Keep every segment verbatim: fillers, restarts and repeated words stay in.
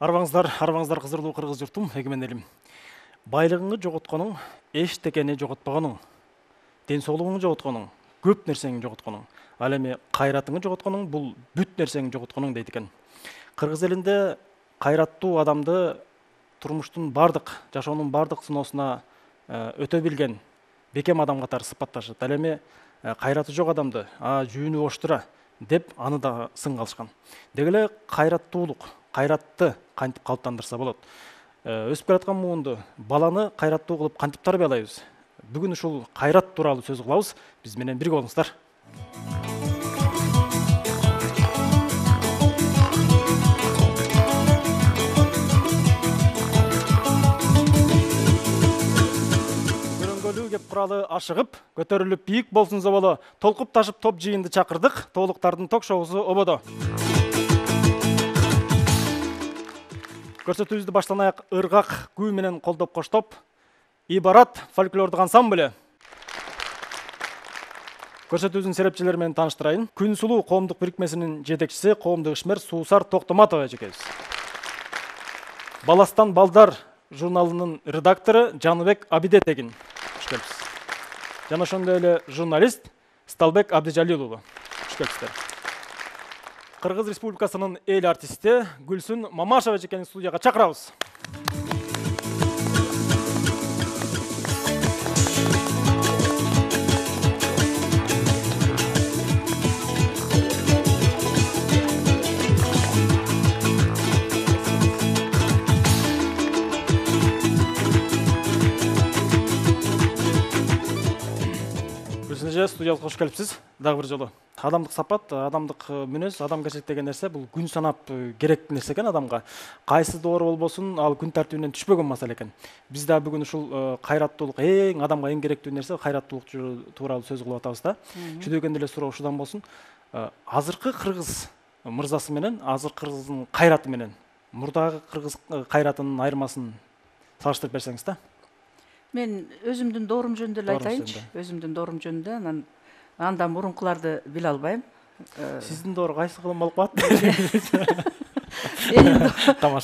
Арбаңыздар, арбаңыздар кызырлуу кыргыз журтум, эгемен элим. Байлыгыңды жоготконуң, эчтекени жоготпогонуң, ден соолугуңду жоготконуң, көп нерсеңди жоготконуң. Ал эми кайратыңды жоготконуң, бул бүт нерсеңди жоготконуң дейт экен. Кыргыз элинде кайраттуу адамды турмуштун бардык, жашоонун бардык сыноосуна өтө билген бекем адам катары сыпатташат. Ал эми кайраты жок адамды, а жүүнү боштура деп аны да сын кылышкан. Деги эле кайраттуулук, кайратты кантип калыптандырса болот? Өсүп келаткан муунду баланы кайраттуу кылып кантип тарбиялайбыз? Бүгүн ушул кайрат тууралуу сөз кылабыз. Биз менен бирге болуңуздар. Көрөнгөлүү кеп куралы ашыгып, көтөрүлүп бийик болсун зоболо, толкуп ташып топ жыйынды чакырдык, тоолуктардын ток шоусу ободо. Көрсөтүүбүздү баштан аяк ыргак күү менен колдоп коштоп, Ибарат фольклордук ансамбль. Көрсөтүүбүздүн серепчилери менен тааныштырайын. Күн сулуу коомдук бирикмесинин жетекчиси, коомдук ишмер Суусар Токтоматова эжекебиз. Баластан балдар журналынын редактору Жаныбек Абидетегин. Кош келипсиз. Жана ошондой эле журналист Сталбек Абдижалил уулу. Кош келипсиздер. Кыргыз Республикасынын эл артисти Гүлсүн Мамашева эжекени студияга чакырабыз. Гүлсүн эже, студияга кош келипсиз. Дагы бир жолу. Адамдык сапат, адамдык мүнөз, адамгерчилик деген нерсе бул күн санап керек нерсе экен адамга. Кайсы доору болбосун, ал күн тартибинен түшпөгөн маселе экен. Биз да бүгүн ушул кайраттуулук, эң адамга эң керектүү нерсе кайраттуулук тууралуу сөз кылып атабыз да. Чүдөгөн деле суроо ушудан болсун. Азыркы кыргыз мырзасы менен, азыркы кыргыздын кайраты менен мурдагы кыргыз кайратынын айырмасын салыштырып берсеңиз да. Мен өзүмдүн доорум жөнүндө эле айтайынчы. Өзүмдүн доорум жөнүндө, анан андан мурункуларды биле албайм. Сиздин доор кайсы кылым болуп калат?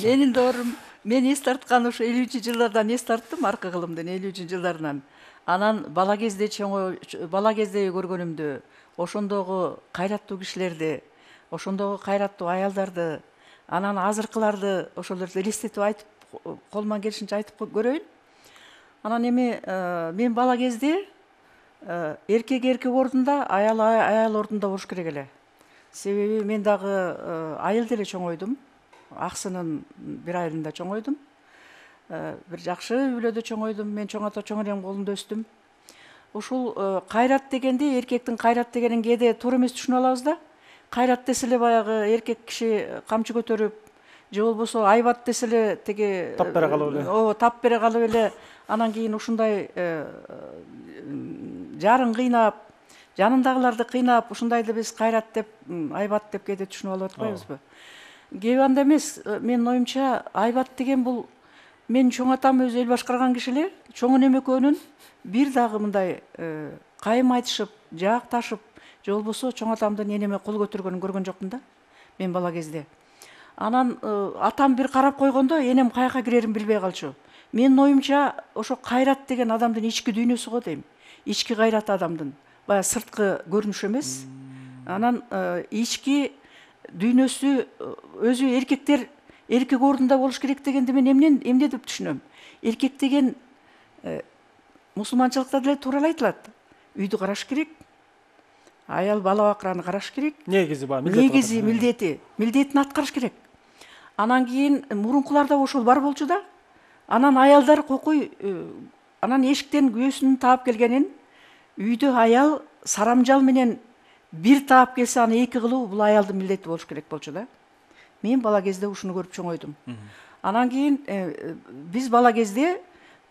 Менин доорум, мен эс тарткан ушу элүүнчү жылдардан эс тарттым, аркы кылымдын элүүнчү жылдарынан. Анан бала кезде чоң бала кезде көргөнүмдү, ошондогу кайраттуу кишилерди, ошондогу кайраттуу аялдарды, анан азыркыларды ошолорду элестетип айтып, колуман келишинче айтып көрөйүн. Анан эми мен бала кезде эркек эркек ордунда, аял аял ордунда болуш керек эле. Себеби мен дагы айыл деле чоңойдум. Аксынын бир айылында чоңойдум. Бир жакшы үй бүлөдө чоңойдум. Мен чоң ата чоң энем колунда өстүм. Ушул кайрат дегенде, эркектин кайрат дегенин кээде туура эмес түшүнүп алабыз да. Кайрат десе эле баягы эркек киши камчы көтөрүп, же болбосо айбат десе эле теги тап бере калып эле. Ооба, тап бере калып эле анан кийин ушундай жарын кыйнап, жанындагыларды кыйнап, ушундайды биз кайрат деп, айбат деп кээде түшүнүп алып атпайбызбы? Кээ анда эмес, менин оюмча айбат деген бул менин чоң атам өзү эл башкарган киши эле, чоң энем экөөнүн бир дагы мындай кайым айтышып, жаакташып, же болбосо чоң атамдын энеме кол көтөргөнүн көргөн жокмун да, мен бала кезде. Анан атам бир карап койгондо энем каяка кирерин билбей калчу. Менин оюмча ошо кайрат деген адамдын ички дүйнөсү го дейм. Ички кайраты адамдын. Бая сырткы көрүнүш эмес. Анан ички дүйнөсү өзү эркектер эркек ордунда болуш керек дегенди мен эмнен эмне деп түшүнөм? Эркек деген мусулманчылыкта деле туура эле айтылат. Үйдү караш керек. Аял бала бакыраны караш керек. Негизи ба, милдети. Негизи милдети, милдетин аткарыш керек. Анан кийин мурункуларда ошол бар болчу да. Анан аялдар кокуй, анан эшиктен күйөөсүнүн таап келгенин, үйдө аял сарамжал менен бир таап келсе, аны эки кылуу бул аялдын милдети болуш керек болчу да. Мен бала кезде ушуну көрүп чоңойдум. Анан кийин биз бала кезде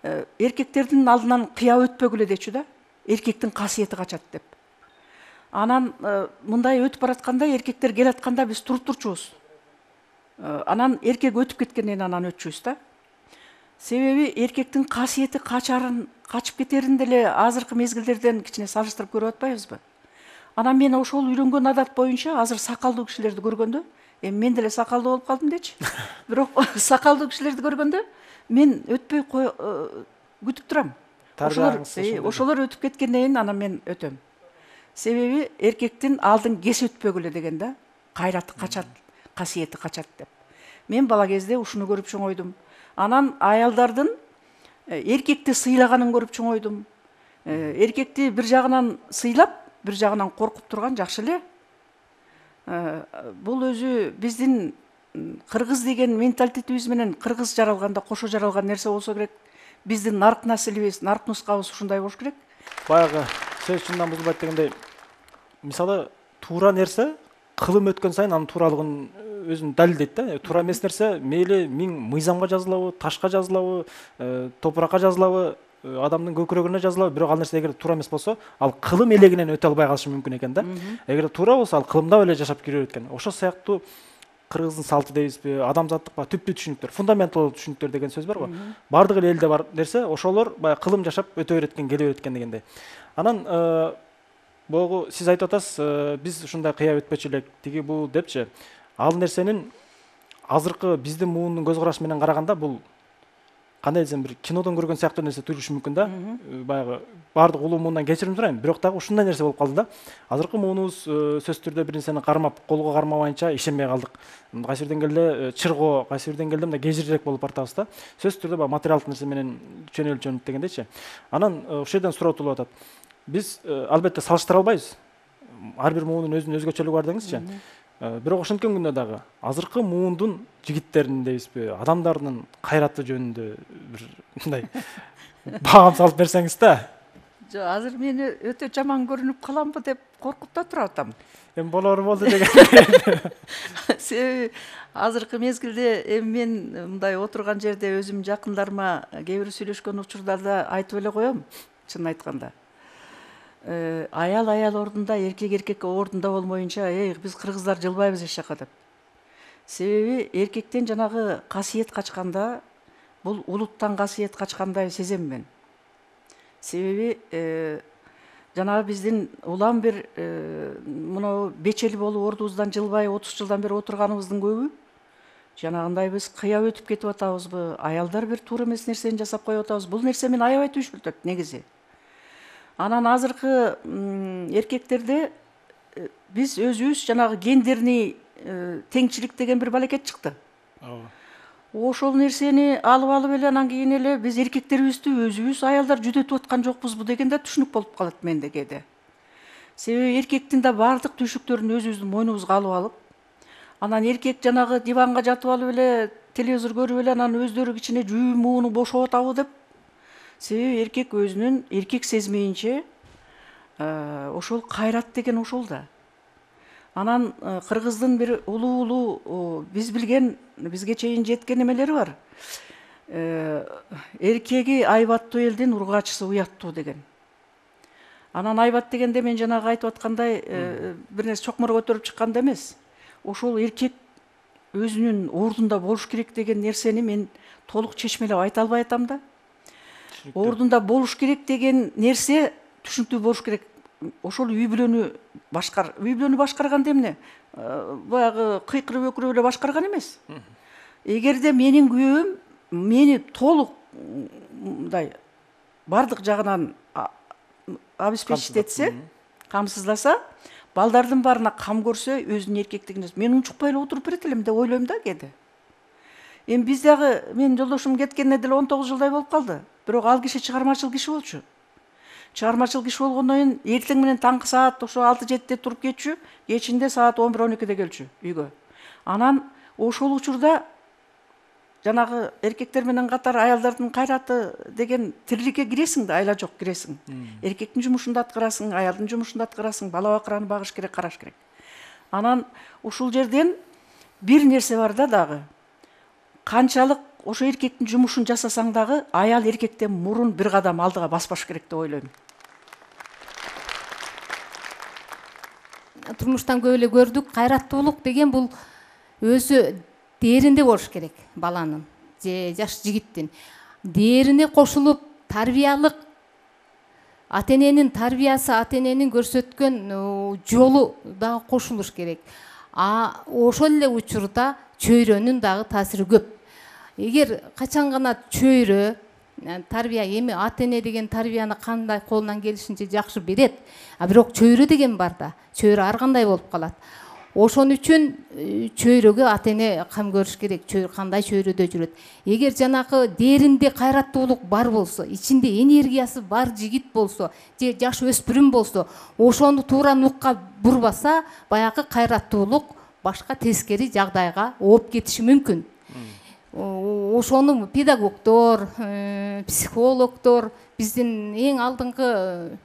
эркектердин алдынан кыя өтпөгүлө дечү да. Эркектин касиети качат деп. Анан мындай өтүп баратканда, эркектер келатканда биз туруп турчубуз. Анан эркек өтүп кеткенден анан өтчүбүз да. Себеби эркектин касиети качарын, качып кетерин деле азыркы мезгилдерден кичине салыштырып көрүп атпайбызбы? Анан мен ошол үйрөнгөн адат боюнча азыр сакалдуу кишилерди көргөндө эми мен деле сакалдуу болуп калдым дечи. Бирок сакалдуу кишилерди көргөндө мен өтпөй күтүп турам. Ошолор ошолор өтүп кеткенден кийин анан мен өтөм. Себеби эркектин алдын кесип өтпөгүлө деген да, кайраты качат, касиети качат деп. Мен бала кезде ушуну көрүп чоңойдум. Анан аялдардын эркекти сыйлаганын көрүп чоңойдум. Эркекти бир жагынан сыйлап, бир жагынан коркуп турган жакшы эле. Бул өзү биздин кыргыз деген менталитетибиз менен кыргыз жаралганда кошо жаралган нерсе болсо керек. Биздин нарк населибиз, нарк нускабыз ушундай болуш керек. Баягы сөз чындан бузулбайт дегендей, мисалы туура нерсе кылым өткөн сайын анын тууралыгын өзүн далилдейт да. Туура эмес нерсе мейли миң мыйзамга жазылабы, ташка жазылабы, топуракка жазылабы, адамдын көкүрөгүнө жазылабы, бирок ал нерсе эгер туура эмес болсо, ал кылым элегинен өтө албай калышы мүмкүн экен да. Эгер туура болсо, ал кылымда эле жашап кире берет экен. Ошол сыяктуу кыргыздын салты дейбизби, адамзаттык ба түптүү түшүнүктөр, фундаменталдуу түшүнүктөр деген сөз бар го. Бардык эле элде бар нерсе, ошолор баягы кылым жашап өтө берет экен, келе берет экен дегендей. Анан могу сиз айтып атасыз, биз ушундай кыя өтпөчү элек, тиги бул депчи. Ал нерсенин азыркы биздин муунун көз карашы менен караганда бул кандай десем, бир кинодон көргөн сыяктуу нерсе туюшу мүмкүн да. Баягы бардык улуу муундан кечирим сурайм, бирок дагы ушундай нерсе болуп калды да. Азыркы муунубуз сөзсүз түрдө бир нерсени кармап, колго кармабайынча ишенбей калдык. Кайсы бир деңгээлде чыргоо, кайсы бир деңгээлде мындай кежирирээк болуп бартабыз да. Сөзсүз түрдө баягы материалдык нерсе менен чөнөлчөнүп дегендейчи. Анан ошол жерден суроо туулуп атат. Биз албетте салыштыра албайбыз. Ар бир муунун өзүнүн өзгөчөлүгү бар деңизчи. Бирок ошенткен күндө дагы азыркы муундун жигиттеринин дейбизби, адамдарынын кайраты жөнүндө бир мындай баам салып берсеңиз да. Жок, азыр мени өтө жаман көрүнүп каламбы деп коркуп да туруп атам. Эми болору болду деген. Себеби азыркы мезгилде эми мен мындай отурган жерде өзүм жакындарыма кээ бир сүйлөшкөн учурларда айтып эле коем, чынын айтканда. Аял аял ордунда, эркек эркек ордунда болмоюнча, эй, биз кыргыздар жылбайбыз эч жака деп. Себеби эркектен жанагы касиет качканда, бул улуттан касиет качкандай сезем мен. Себеби жанагы биздин улам бир мына бечели болуп ордубуздан жылбай отуз жылдан бери отурганыбыздын көбү жанагындай биз кыя өтүп кетип атабызбы, аялдар бир туура эмес нерсени жасап коюп атабыз. Бул нерсе мени аябай түшүнтөт негизи. Анан азыркы эркектерде биз өзүбүз жанагы гендерный теңчилик деген бир балекет чыкты. Ошол нерсени алып алып эле анан кийин эле биз эркектерибизди өзүбүз аялдар жүдөтүп аткан жокпузбу деген да түшүнүк болуп калат менде кээде. Себеби эркектин да бардык түйшүктөрүн өзүбүздүн мойнубузга алып алып, анан эркек жанагы диванга жатып алып эле телевизор көрүп эле анан өздөрү кичине жүү мууну бошоп атабы деп. Себеби эркек өзүнүн эркек сезмейинче ошол кайрат деген ошол да. Анан кыргыздын бир улуу-улуу биз билген, бизге чейин жеткен эмелери бар. Эркеги айбаттуу элдин ургачысы уяттуу деген. Анан айбат дегенде мен жанагы айтып аткандай бир нерсе чокмор көтөрүп чыкканда эмес. Ошол эркек өзүнүн ордунда болуш керек деген нерсени мен толук чечмелеп айта албай атам да. Ордунда болуш керек деген нерсе түшүнүктүү болуш керек. Ошол үй бүлөнү башкар, үй бүлөнү башкарганда эмне? Баягы кыйкырып өкүрүп эле башкарган эмес. Эгерде менин күйөөм мени толук мындай бардык жагынан обеспечить этсе, камсыздаса, балдардын баарына кам көрсө, өзүнүн эркектигин мен унчукпай эле отуруп берет элем деп ойлойм да кээде. Эми биз дагы менин жолдошум кеткенине деле он тогуз жылдай болуп калды. Бирок ал киши чыгармачыл киши болчу. Чыгармачыл киши болгондон кийин эртең менен таңкы саат ошо алты жетиде туруп кетчү, кечинде саат он бир он экиде келчү үйгө. Анан ошол учурда жанагы эркектер менен катар аялдардын кайраты деген тириликке киресиң да, айла жок киресиң. Эркектин жумушун да аткарасың, аялдын жумушун да аткарасың, бала бакыраны багыш керек, караш керек. Анан ушул жерден бир нерсе бар да дагы. Канчалык ошо эркектин жумушун жасасаң дагы аял эркектен мурун бир кадам алдыга баспаш керек деп ойлойм. Турмуштан көп эле көрдүк, кайраттуулук деген бул өзү дээринде болуш керек баланын же жаш жигиттин. Дээрине кошулуп тарбиялык ата-эненин тарбиясы, ата-эненин көрсөткөн жолу дагы кошулуш керек. А ошол эле учурда чөйрөнүн дагы таасири көп. Эгер качан гана чөйрө тарбия, эми ата эне деген тарбияны кандай колунан келишинче жакшы берет, а бирок чөйрө деген бар да, чөйрө ар кандай болуп калат. Ошон үчүн чөйрөгө ата эне кам көрүш керек, чөйрө кандай чөйрөдө жүрөт. Эгер жанакы дээринде кайраттуулук бар болсо, ичинде энергиясы бар жигит болсо, же жаш өспүрүм болсо, ошону туура нукка бурбаса, баягы кайраттуулук башка тескери жагдайга ооп кетиши мүмкүн. Ошону педагогдор, психологдор, биздин эң алдыңкы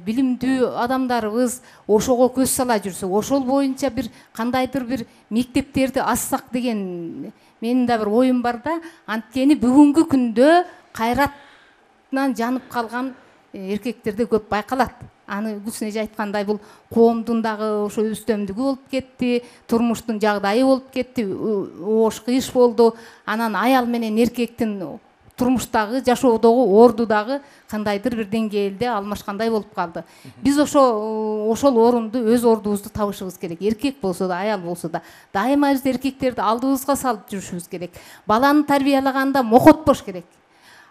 билимдүү адамдарыбыз ошого көз сала жүрсө, ошол боюнча бир кандайдыр бир мектептерди ачсак деген менин да бир оюм бар да. Анткени бүгүнкү күндө кайратынан жанып калган эркектерде көп байкалат. Аны Гүлсүн эже айткандай, бул коомдун дагы ошо үстөмдүгү болуп кетти, турмуштун жагдайы болуп кетти, оош кыйыш болду. Анан аял менен эркектин турмуштагы, жашоодогу орду дагы кандайдыр бир деңгээлде алмашкандай болуп калды. Биз ошо ошол орунду, өз ордубузду табышыбыз керек. Эркек болсо да, аял болсо да, дайыма биз эркектерди алдыбызга салып жүрүшүбүз керек. Баланы тарбиялаганда мокотпош керек.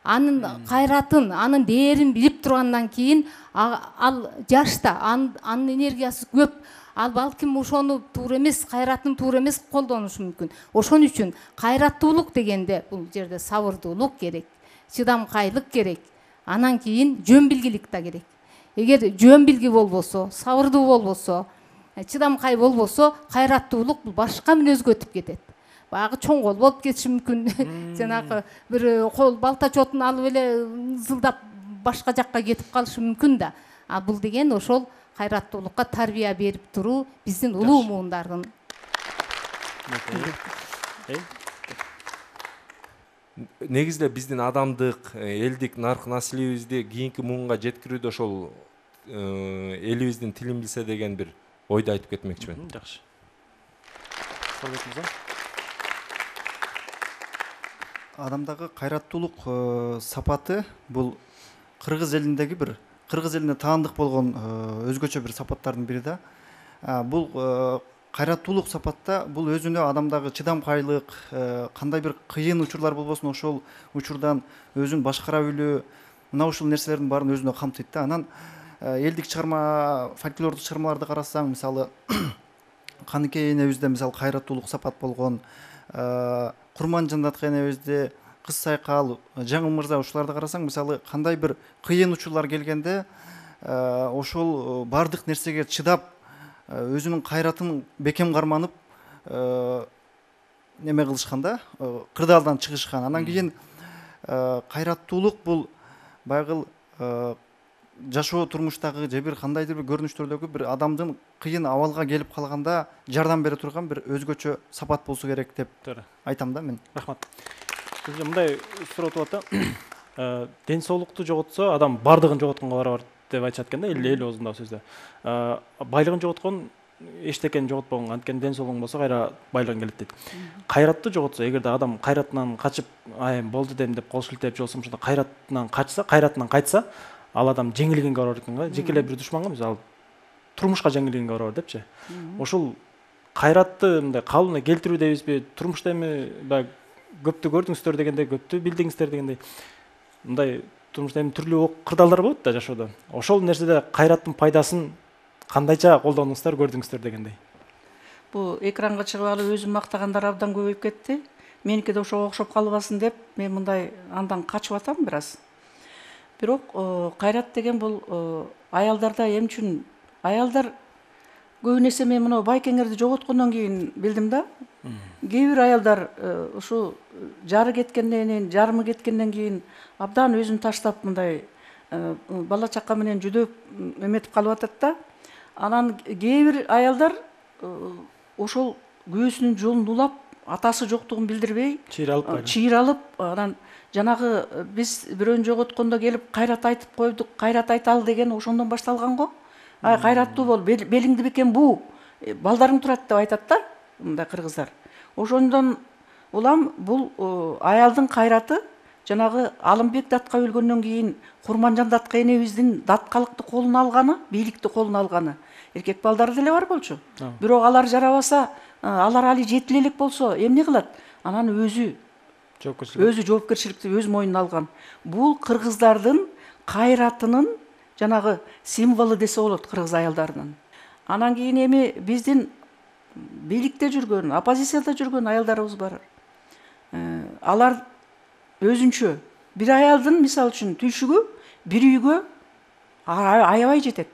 Анын кайратын, анын дээрин билип тургандан кийин ал жашта, анын энергиясы көп. Ал балким ошону туура эмес, кайратын туура эмес колдонушу мүмкүн. Ошон үчүн кайраттуулук дегенде бул жерде сабырдуулук керек, чыдамкайлык керек. Анан кийин жөн билгилик да керек. Эгер жөн билги болбосо, сабырдуу болбосо, чыдамкай болбосо, кайраттуулук бул башка мүнөзгө өтүп кетет. Баягы чоң кол болуп кетиши мүмкүн. Жанагы бир кол балта чотун алып эле зылдап башка жакка кетип калышы мүмкүн да. А бул деген ошол кайраттуулукка тарбия берип туруу биздин улуу муундардын. Негизде биздин адамдык, элдик нарк наслибизди кийинки муунга жеткирүүдө ошол элибиздин тилин билсе деген бир ойду айтып кетмекчимин. Жакшы. Адамдагы кайраттуулук сапаты бул кыргыз элиндеги бир кыргыз элине таандык болгон өзгөчө бир сапаттардын бири да. Бул кайраттуулук сапатта бул өзүнө адамдагы чыдамкайлык, кандай бир кыйын учурлар болбосун ошол учурдан өзүн башкара билүү, мына ушул нерселердин баарын өзүнө камтыйт да. Анан элдик чыгарма, фольклордук чыгармаларды карасаң, мисалы Каныкей энебизде мисалы кайраттуулук сапат болгон, Курманжандатка энебизде, Кыз Сайкал, Жаңыл мырза, ушуларды карасаң, мисалы кандай бир кыйын учурлар келгенде ошол бардык нерсеге чыдап, өзүнүн кайратын бекем карманып неме кылышкан да, кырдаалдан чыгышкан. Анан кийин кайраттуулук бул байгыл жашоо турмуштагы же бир кандайдыр бир көрүнүштөрдөгү бир адамдын кыйын абалга келип калганда жардам бере турган бир өзгөчө сапат болсо керек деп айтам да мен. Рахмат. Мындай суроо туат да. Ден соолукту жоготсо адам бардыгын жоготконго барабар деп айтышат экен да, эл оозунда сөздө. Байлыгын жоготкон эчтекени жоготпогон, анткени ден соолугуң болсо кайра байлыгың келет дейт. Кайратты жоготсо, эгерде адам кайратынан качып, ай болду дем деп кол шилтеп же болбосо кайратынан качса, кайратынан кайтса, ал адам жеңилгенге барар экен го. Жеке эле бир душманга эмес, ал турмушка жеңилгенге барар депчи. Ошол кайратты мындай калыбына келтирүү дейбизби? Турмушта эми баягы көптү көрдүңүздөр дегендей, көптү билдиңиздер дегендей, мындай турмушта эми түрлүү кырдаалдар болот да жашоодо. Ошол нерседе кайраттын пайдасын кандайча колдонуңуздар, көрдүңүздөр дегендей. Бул экранга чыгып алып өзүн мактагандар абдан көбөйүп кетти. Меники да ошого окшоп калбасын деп мен мындай андан качып атам бир аз. Бирок кайрат деген бул аялдарда эмне үчүн? Аялдар көбүн эсе мен мына байкеңерди жоготкондон кийин билдим да. Кээ бир аялдар ушу жары кеткенден кийин, жарымы кеткенден кийин абдан өзүн таштап мындай бала чака менен жүдөп эметип калып атат да. Анан кээ бир аялдар ошол күйөөсүнүн жолун улап, атасы жоктугун билдирбей, чыйралып, анан жанагы биз бирөөнү жоготкондо келип кайрат айтып койдук, кайрат айталы деген ошондон башталган го. Ай кайраттуу бол, белиңди бекем буу, балдарың турат деп айтат да, мындай кыргыздар. Ошондон улам бул аялдын кайраты жанагы Алымбек датка өлгөндөн кийин Курманжан датка энебиздин даткалыкты колуна алганы, бийликти колуна алганы эркек балдары деле бар болчу. Бирок алар жарабаса, алар али жетиле элек болсо эмне кылат? Анан өзү жоопкерчилик өзү жоопкерчиликти өз мойнуна алган. Бул кыргыздардын кайратынын жанагы символу десе болот, кыргыз аялдарынын. Анан кийин эми биздин бийликте жүргөн, оппозицияда жүргөн аялдарыбыз бар. Алар өзүнчө бир аялдын мисалы үчүн түйшүгү бир үйгө аябай жетет.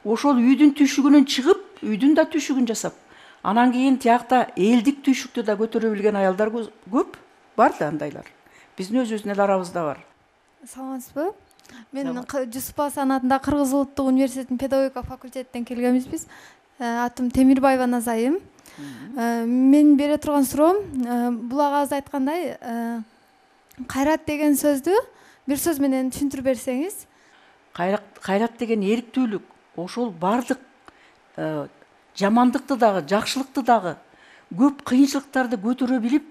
Ошол үйдүн түйшүгүнөн чыгып, үйдүн да түйшүгүн жасап, анан кийин тиякта элдик түйшүктү да көтөрө билген аялдар көп бар да андайлар. Биздин өзүбүздүн эл арабызда бар. Саламатсызбы? Мен Жусупов Асан атындагы Кыргыз Улуттук университетинин педагогика факультетинен келгенбиз. Атым Темирбаева Назайым. Мен бере турган суроом, бул агабыз айткандай, кайрат деген сөздү бир сөз менен түшүндүрүп берсеңиз. Кайрат деген эриктүүлүк, ошол бардык жамандыкты дагы, жакшылыкты дагы, көп кыйынчылыктарды көтөрө билип,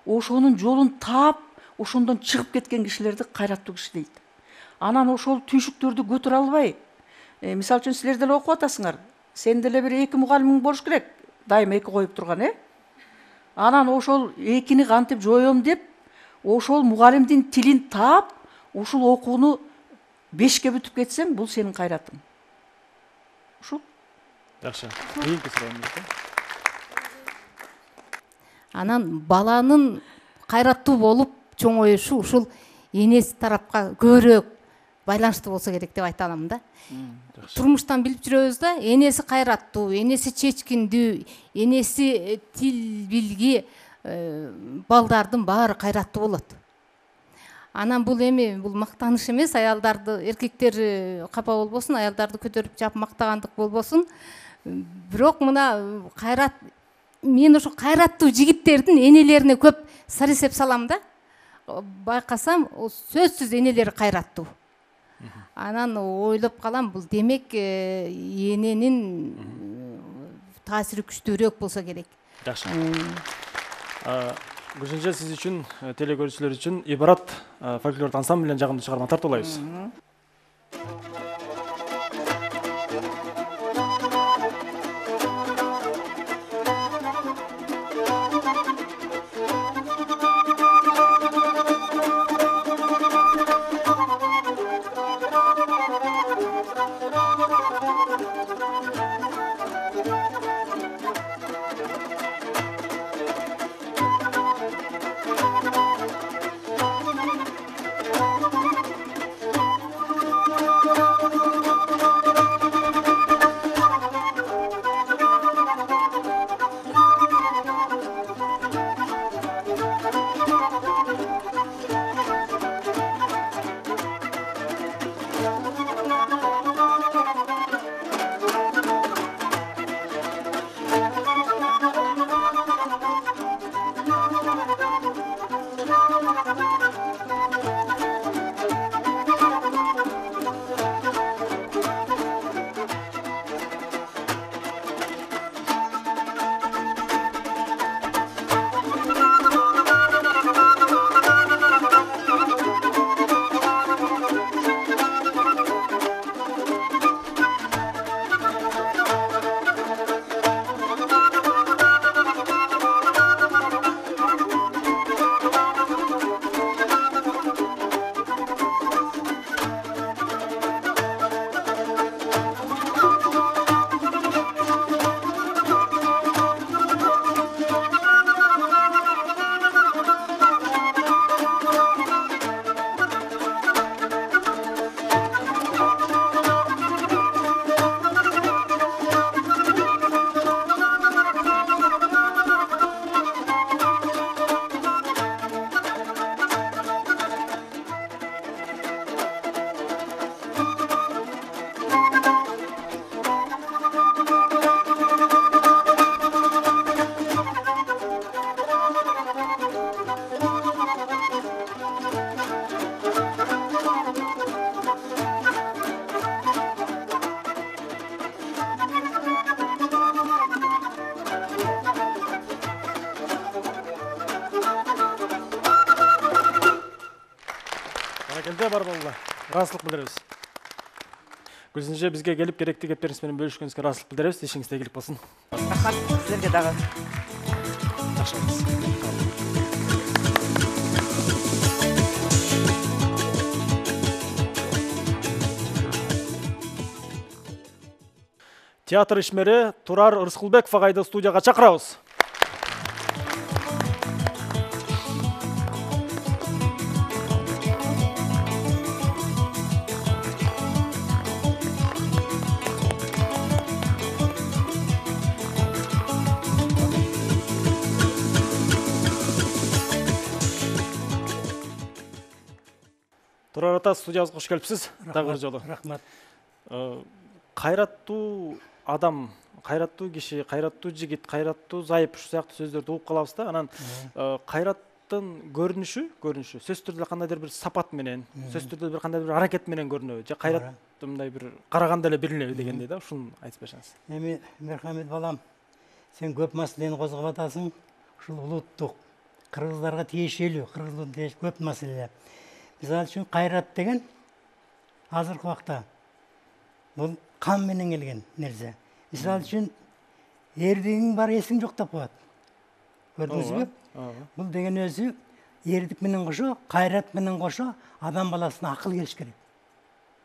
ошонун жолун таап, ошондон чыгып кеткен кишилерди кайраттуу киши дейт. Анан ошол түйшүктөрдү көтөрө албай, мисалы үчүн силер деле окуп атасыңар. Сен деле бир эки мугалимиң болуш керек. Дайыма эки коюп турган, э? Анан ошол экини кантип жоём деп, ошол мугалимдин тилин таап, ушул окууну бешке бүтүп кетсең, бул сенин кайратың. Ушул. Жакшы. Кийинки суроомуз. Анан баланын кайраттуу болуп чоңоюшу ушул энеси тарапка көбүрөөк байланыштуу болсо керек деп айта алам да. Турмуштан билип жүрөбүз да, энеси кайраттуу, энеси чечкиндүү, энеси тил билги балдардын баары кайраттуу болот. Анан бул эми бул мактаныш эмес, аялдарды, эркектер капа болбосун, аялдарды көтөрүп жап мактагандык болбосун. Бирок мына кайрат, мен ошо кайраттуу жигиттердин энелерине көп сар эсеп салам да. Байкасам, сөзсүз энелери кайраттуу. Анан ойлоп калам, бул демек эненин таасири күчтүүрөөк болсо керек. Жакшы. Гүлшенже, сиз үчүн, теле көрүүчүлөр үчүн ибарат фольклордук ансамблинен жагымдуу чыгарма тартуулайбыз. сизге бар болула. Ыраазычылык билдиребиз. Гүлсүн эже, бизге келип керектүү кептериңиз менен бөлүшкөнүңүзгө ыраазычылык билдиребиз. Ишиңизде ийгилик болсун. Рахмат силерге дагы. Жакшы болуңуз. Театр ишмери Турар Ырскулбеков агайды студияга чакырабыз. Турар ата, студиябызга кош келипсиз. Дагы бир жолу. Рахмат. Кайраттуу адам, кайраттуу киши, кайраттуу жигит, кайраттуу зайып ушу сыяктуу сөздөрдү угуп калабыз да. Анан кайраттын көрүнүшү, көрүнүшү сөзсүз түрдө кандайдыр бир сапат менен, сөзсүз түрдө бир кандайдыр бир аракет менен көрүнөбү, же кайрат мындай бир караганда эле билинеби дегендей да. Ушуну айтып берсеңиз. Эми Мерхамет балам, сен көп маселени козгоп атасың. Ушул улуттук кыргыздарга тиешелүү, кыргыздын көп маселелер. Мисалы үчүн кайрат деген азыркы убакта бул кан менен келген нерсе. Мисалы үчүн эрдигиң бар, эсиң жок деп коет. Көрдүңүзбү? Бул деген өзү эрдик менен кошо, кайрат менен кошо адам баласына акыл келиш керек.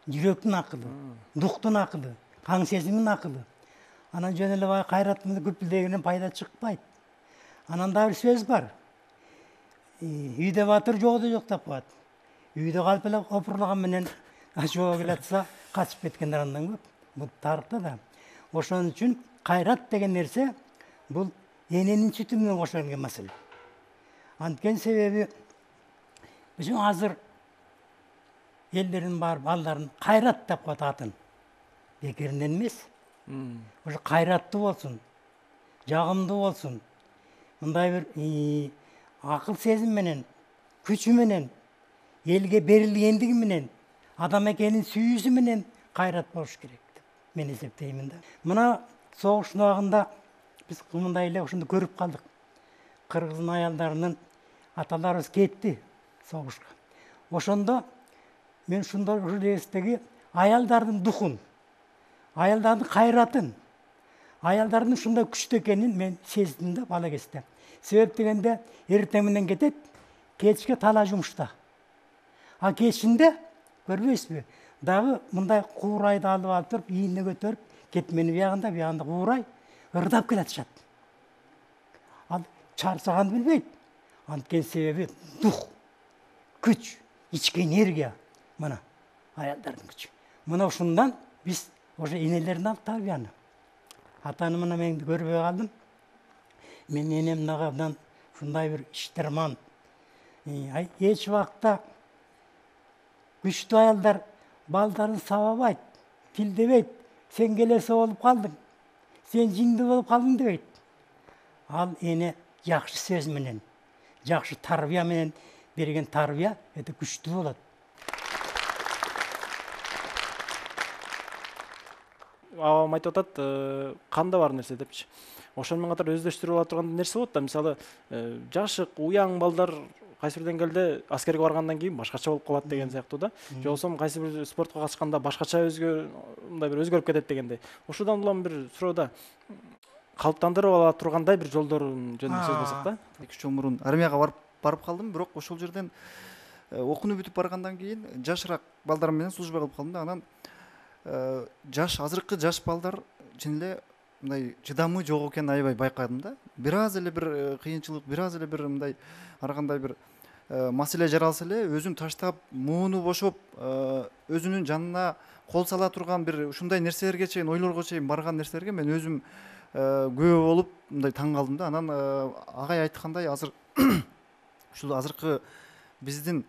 Жүрөктүн акылы, дуктун акылы, каң сезимдин акылы. Анан жөн эле бай кайрат менен күпүлдегенен пайда чыкпайт. Анан да бир сөз бар. Үйдө батыр, жогдо жок деп коет. Үйдө калып эле опурлаган менен жоо келатса качып кеткендер андан көп. Бул тарыхта да. Ошон үчүн кайрат деген нерсе бул эненин сүтү менен кошо келген маселе. Анткени себеби биздин азыр элдердин бар балдарын кайрат деп коет атын. Бекеринен эмес. Ошо кайраттуу болсун, жагымдуу болсун. Мындай бир акыл сезим менен, күчү менен, элге берилгендиги менен, адам экенин сүйүүсү менен кайрат болуш керек деп мен эсептеймин да. Мына согуштун убагында биз мындай эле ошондо көрүп калдык. Кыргыздын аялдарынын аталарыбыз кетти согушка. Ошондо мен ушундай ушул эстеги аялдардын духун, аялдардын кайратын, аялдардын ушундай күчтүү экенин мен сездим да бала кезде. Себеп дегенде эртең менен кетет, кечке тала жумушта. А кечинде көрбөйсүзбү? Дагы мындай куурайды алып алып туруп, ийине көтөрүп, кетмени биягында, биягында куурай ырдап келатышат. Ал чарчаганды билбейт. Анткени себеби дух, күч, ички энергия. Мына аялдардын күчү. Мына ушундан биз ошо энелерден алып тарбияны. Атаны мына мен көрбөй калдым. Мен энем нагабдан ушундай бир иштерман. Эч убакта күчтүү аялдар балдарын сабабайт, тилдебейт. Сен келесе болуп калдың, сен жиңди болуп калдың дебейт. Ал эне жакшы сөз менен, жакшы тарбия менен берген тарбия өтө күчтүү болот. Абам айтып атат, канда бар нерсе депчи. Ошону менен катар өздөштүрүп ала турган нерсе болот да. Мисалы, жашык, уяң балдар кайсы бир деңгээлде аскерге баргандан кийин башкача болуп калат деген сыяктуу да. Же болбосо кайсы бир спортко катышканда башкача өзгө мындай бир өзгөрүп кетет дегендей. Ошодан улам бир суроода калыптандырып ала тургандай бир жолдорун жөнүндө сөз кылсак да. эки үч жыл мурун армияга барып барып калдым, бирок ошол жерден окууну бүтүп баргандан кийин жашыраак балдар менен служба кылып калдым да. Анан жаш азыркы жаш балдар чын эле мындай чыдамы жок экенин аябай байкадым да. Бир аз эле бир кыйынчылык, бир аз эле бир мындай ар кандай бир маселе жаралса эле өзүн таштап, мууну бошоп, өзүнүн жанына кол сала турган бир ушундай нерселерге чейин, ойлорго чейин барган нерселерге мен өзүм күбө болуп мындай таң калдым да. Анан агай айткандай азыр ушул азыркы биздин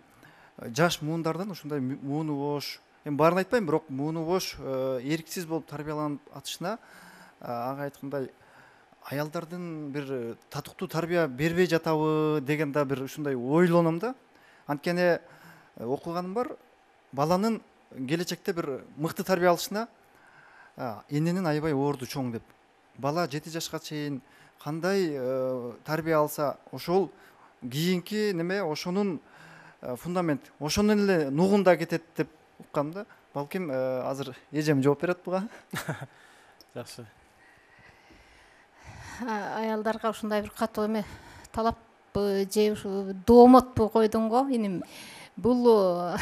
жаш муундардан ушундай мууну бош, эми баарын айтпайм, бирок мууну бош, эрксиз болуп тарбияланып атышына ага айткандай аялдардын бир татыктуу тарбия бербей жатабы деген да бир ушундай ойлоном да. Анткени окуганым бар, баланын келечекте бир мыкты тарбия алышына эненин аябай орду чоң деп. Бала жети жашка чейин кандай тарбия алса, ошол кийинки неме ошонун фундамент ошондон эле нугунда кетет деп уккам да. Балким азыр эжем жооп берет буга. Жакшы. Аялдарга ушундай бир катуу эме талап же ушу доомотпу койдуң го иним. Бул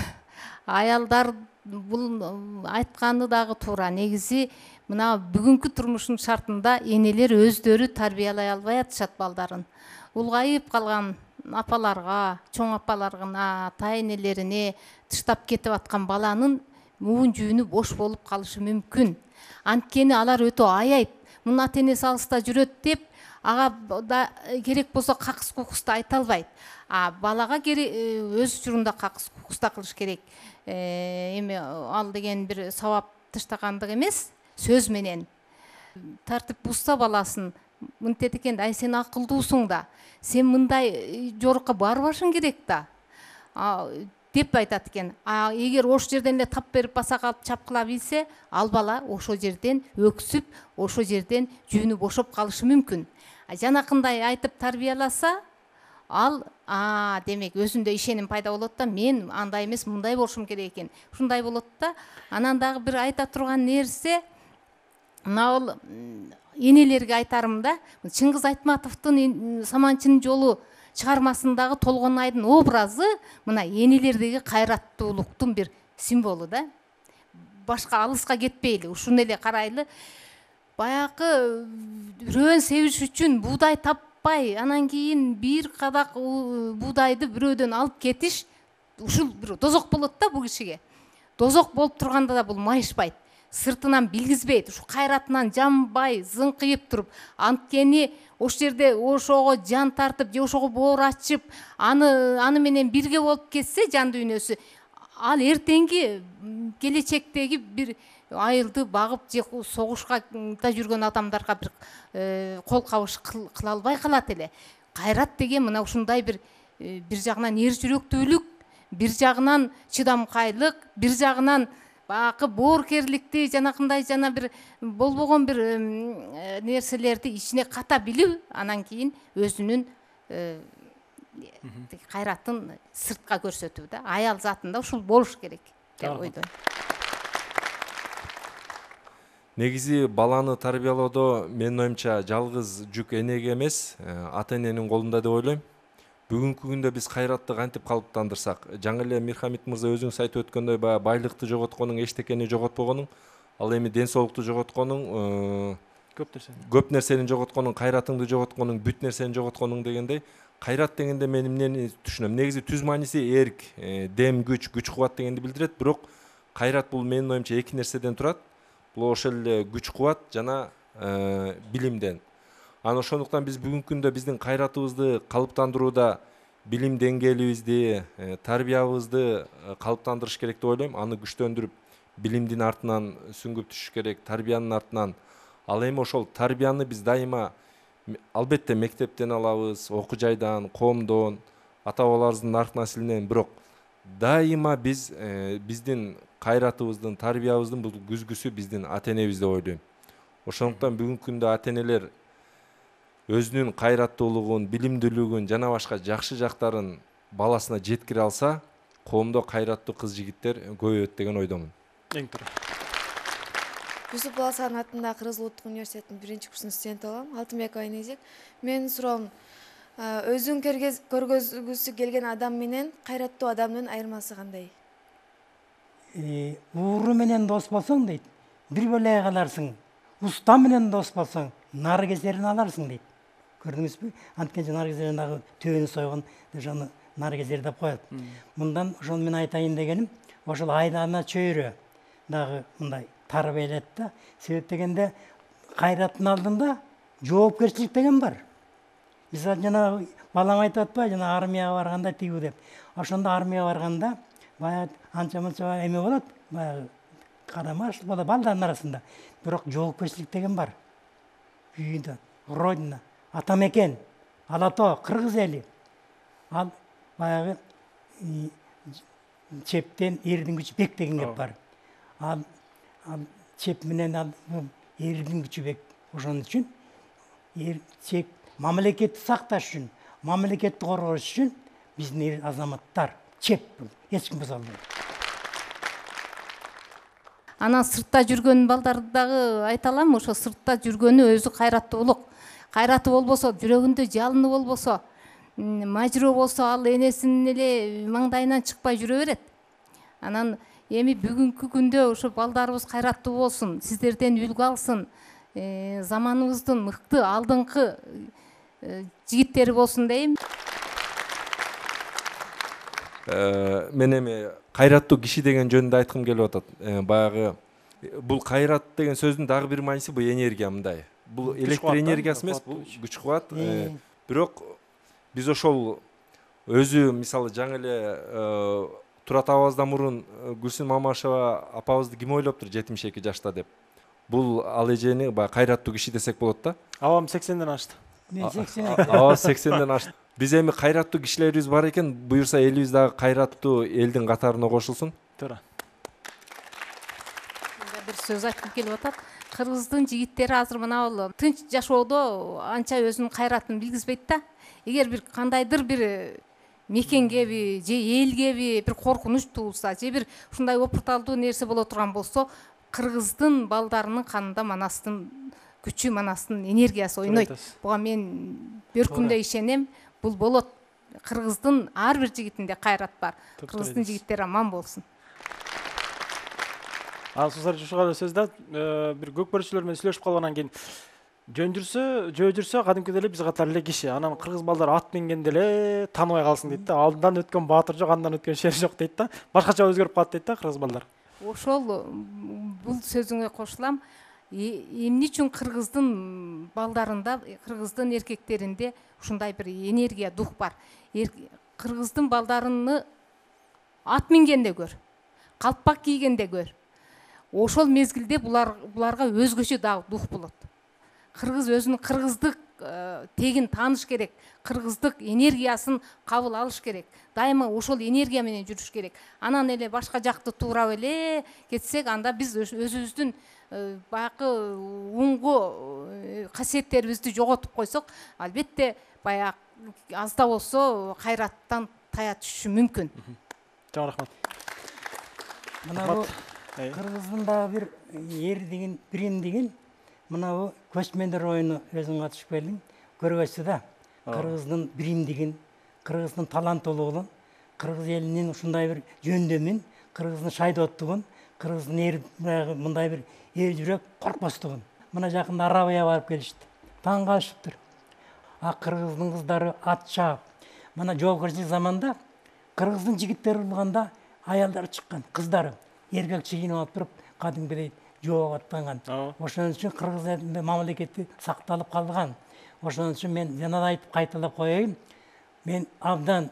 аялдар бул айтканы дагы туура. Негизи мына бүгүнкү турмуштун шартында энелер өздөрү тарбиялай албай атышат балдарын. Улгайып калган апаларга, чоң апаларына, ата энелерине тыштап кетип аткан баланын муун жүүнү бош болуп калышы мүмкүн. Анткени алар өтө аяйт. Мунун ата энеси алыста жүрөт деп ага да керек болсо какыс кукуста айта албайт. А балага өз учурунда какыс кукуста кылыш керек. Эми ал деген бир сабап таштагандык эмес, сөз менен тартип бузса баласын мынтет экен, ай сен акылдуусуң да, сен мындай жорукка барбашың керек да деп айтат экен. А эгер ошол жерден эле тап берип баса калып чапкыла билсе, ал бала ошол жерден өксүп, ошол жерден жүүнү бошоп калышы мүмкүн. Жанакындай айтып тарбияласа, ал а демек өзүндө ишеним пайда болот да, мен андай эмес, мындай болушум керек экен. Ушундай болот да. Анан дагы бир айта турган нерсе, мына энелерге айтарым да, Чыңгыз Айтматовдун Саманчынын жолу чыгармасындагы Толгонайдын образы мына энелердеги кайраттуулуктун бир символу да. Башка алыска кетпейли, ушуну эле карайлы. Баягы бирөөн себиш үчүн буудай таппай, анан кийин бир кадак буудайды бирөөдөн алып кетиш, ушул бир дозок болот да бул кишиге. Дозок болуп турганда да бул майышпайт. Сыртынан билгизбейт, ушу кайратынан жанбай, зыңкыйып туруп, анткени ошол жерде ошого жан тартып, же ошого боор ачып, аны аны менен бирге болуп кетсе жан дүйнөсү, ал эртеңки келечектеги бир айылды багып же согушка да жүргөн адамдарга бир кол кабыш кыла албай калат эле. Кайрат деген мына ушундай бир бир жагынан эр жүрөктүүлүк, бир жагынан чыдамкайлык, бир жагынан бакы бооркерликти, жанакындай жана бир болбогон бир нерселерди ичине ката билүү, анан кийин өзүнүн кайратын сыртка көрсөтүү да. Аял затында ушул болуш керек деп ойдойм. Негизи баланы тарбиялоодо менин оюмча жалгыз жүк энеге эмес, ата эненин колунда деп ойлойм. Бүгүнкү күндө биз кайратты кантип калыптандырсак, жаңы эле Мирхамит мырза өзүңүз айтып өткөндөй, баягы байлыкты жоготконуң, эчтекени жоготпогонуң, ал эми ден соолукту жоготконуң, көп нерсе. Көп нерсени жоготконуң, кайратыңды жоготконуң, бүт нерсени жоготконуң дегендей, кайрат дегенде мен эмнени түшүнөм? Негизи түз мааниси эрк, дем, күч, күч кубат дегенди билдирет, бирок кайрат бул менин оюмча эки нерседен турат. Бул ошол эле күч кубат жана билимден. Анан ошондуктан биз бүгүнкү күндө биздин кайратыбызды калыптандырууда билим деңгээлибизди, тарбиябызды калыптандырыш керек деп ойлойм. Аны күчтөндүрүп, билимдин артынан сүңгүп түшүш керек, тарбиянын артынан. Ал эми ошол тарбияны биз дайыма албетте мектептен алабыз, окуу жайдан, коомдон, ата-бабаларыбыздын нарк наслинен, бирок дайыма биз биздин кайратыбыздын, тарбиябыздын бул күзгүсү биздин ата энебиз деп ойлойм. Ошондуктан бүгүнкү күндө ата энелер өзүнүн кайраттуулугун, билимдүүлүгүн жана башка жакшы жактарын баласына жеткире алса, коомдо кайраттуу кыз жигиттер көбөйөт деген ойдомун. Эң туура. Юсуп Баласаган атындагы Кыргыз Улуттук университетинин биринчи курсунун студенти болом. Алтынбекова Энезек. Менин суроом, өзүң көргөзгүсү келген адам менен кайраттуу адамдын айырмасы кандай? Ууру менен дос болсоң дейт, бир бөлөй каларсың. Уста менен дос болсоң, нар кезерин аларсың дейт. Көрдүңүзбү? Анткени нар кезерин дагы төбөнү сойгон, ошону нар кезер деп коет. Мындан ошону мен айтайын дегеним, ошол айлана чөйрө дагы мындай тарбиялет да. Себеп дегенде кайраттын алдында жоопкерчилик деген бар. Мисалы жана балам айтып атпайбы, жана армияга барганда тигүү деп. Ошондо армияга барганда баягы анча-мынча эме болот, баягы карамаш болот балдардын арасында. Бирок жоопкерчилик деген бар. Үйүндө, родина, ата мекен, ала тоо, кыргыз эли. Ал баягы чептен эрдин күчү бек деген кеп бар. Ал чеп менен ал эрдин күчү бек. Ошон үчүн эр чеп мамлекетти сакташ үчүн, мамлекетти коргош үчүн биздин эр азаматтар чеп бул, эч ким буза албайт. Анан сыртта жүргөн балдарды дагы айта алам, ошо сыртта жүргөнү өзү кайраттуулук. Кайраты болбосо, жүрөгүндө жалыны болбосо, мажыроо болсо, ал энесинин эле маңдайынан чыкпай жүрө берет. Анан эми бүгүнкү күндө ошо балдарыбыз кайраттуу болсун, сиздерден үлгү алсын, заманыбыздын мыкты алдыңкы жигиттери болсун дейм. Мен эми кайраттуу киши деген жөнүндө айткым келип атат. Баягы бул кайрат деген сөздүн дагы бир мааниси бул энергия мындай. Бул электр энергиясы эмес, бул күч кубат. Бирок биз ошол өзү мисалы жаңы эле Турат абабыздан мурун Гүлсүн Мамашева апабызды ким ойлоптур жетимиш эки жашта деп. Бул ал эжени баягы кайраттуу киши десек болот да. Абам сексенден ашты. Мен сексен. Аба сексенден ашты. Биз эми кайраттуу кишилерибиз бар экен, буюрса элибиз дагы кайраттуу элдин катарына кошулсун. Туура. Бир сөз айткым келип атат. Кыргыздын жигиттери азыр мына бул тынч жашоодо анча өзүнүн кайратын билгизбейт да. Эгер бир кандайдыр бир мекенгеби же элгеби бир коркунуч туулса, же бир ушундай опурталдуу нерсе боло турган болсо, кыргыздын балдарынын канында манастын күчү, манастын энергиясы ойнойт. Буга мен бөркүмдө ишенем. Бул болот. Кыргыздын ар бир жигитинде кайрат бар. Кыргыздын жигиттери аман болсун. Ал сузар жушуга сөз да, бир көкбөрүчүлөр менен сүйлөшүп калгандан кийин жөн жүрсө, жөө жүрсө кадимкидей эле биз катар эле киши. Анан кыргыз балдар ат мингенде эле тааныбай калсын дейт да. Алдынан өткөн баатыр жок, андан өткөн шер жок дейт да. Башкача өзгөрүп калат дейт да кыргыз балдар. Ошол бул сөзүңө кошулам. Эмне үчүн кыргыздын балдарында, кыргыздын эркектеринде ушундай бир энергия, дух бар. Кыргыздын балдарыны ат мингенде көр, калпак кийгенде көр. Ошол мезгилде булар буларга өзгөчө дагы дух болот. Кыргыз өзүнүн кыргыздык тегин тааныш керек, кыргыздык энергиясын кабыл алыш керек. Дайыма ошол энергия менен жүрүш керек. Анан эле башка жакты туурап эле кетсек, анда биз өзүбүздүн баягы уңгу касиеттерибизди жоготуп койсок, албетте баягы аз да болсо кайраттан тая түшүшү мүмкүн. Чоң рахмат. Мына бу кыргыздын дагы бир эр деген, бирим деген мына бу көчмөндөр оюну өзүң катышып келдиң. Көргөйсү да. Кыргыздын биримдигин, кыргыздын таланттуулугун, кыргыз элинин ушундай бир жөндөмүн, кыргыздын шайдооттугун, кыргыздын эр мындай бир эл жүрөк коркпостугун. Мына жакында Арабия барып келишти. Таң калышыптыр. А кыргыздын кыздары ат чаап. Мына жоокерчилик заманда кыргыздын жигиттери урулганда аялдар чыккан, кыздары эркек чийинип алып туруп, кадимгидей жоого аттанган. Ошон үчүн кыргыз элинде мамлекети сакталып калган. Ошон үчүн мен жана да айтып кайталап коеюн. Мен абдан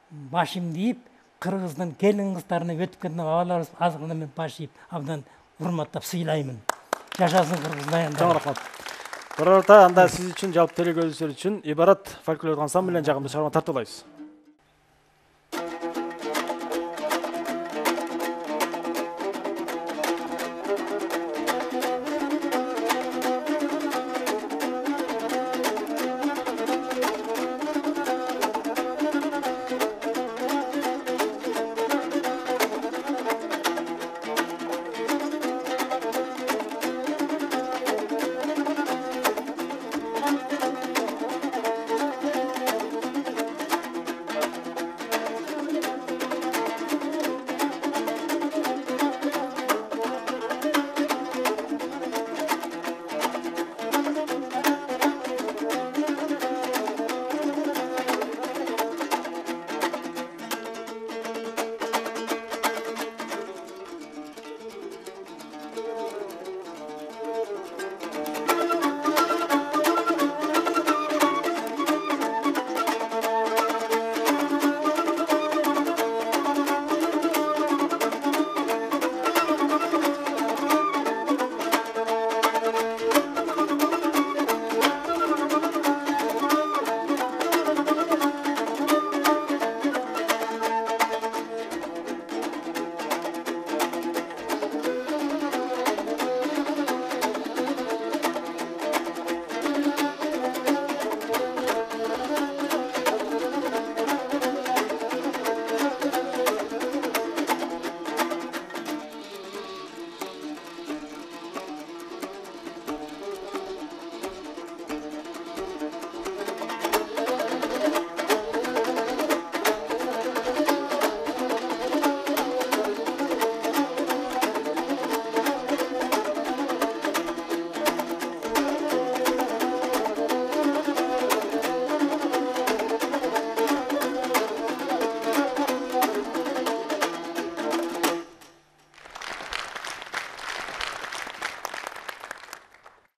башымды ийип, кыргыздын келин кыздарына өтүп кеткен абаларыбыз азыркына мен баш ийип, абдан урматтап сыйлаймын. Жашасын кыргыздар. Чоң рахмат. Бирата анда сиз үчүн, жалпы телекөрүүчүлөр үчүн ибарат фольклорлук ансамбль менен жагымдуу чыгарма тартуулайбыз.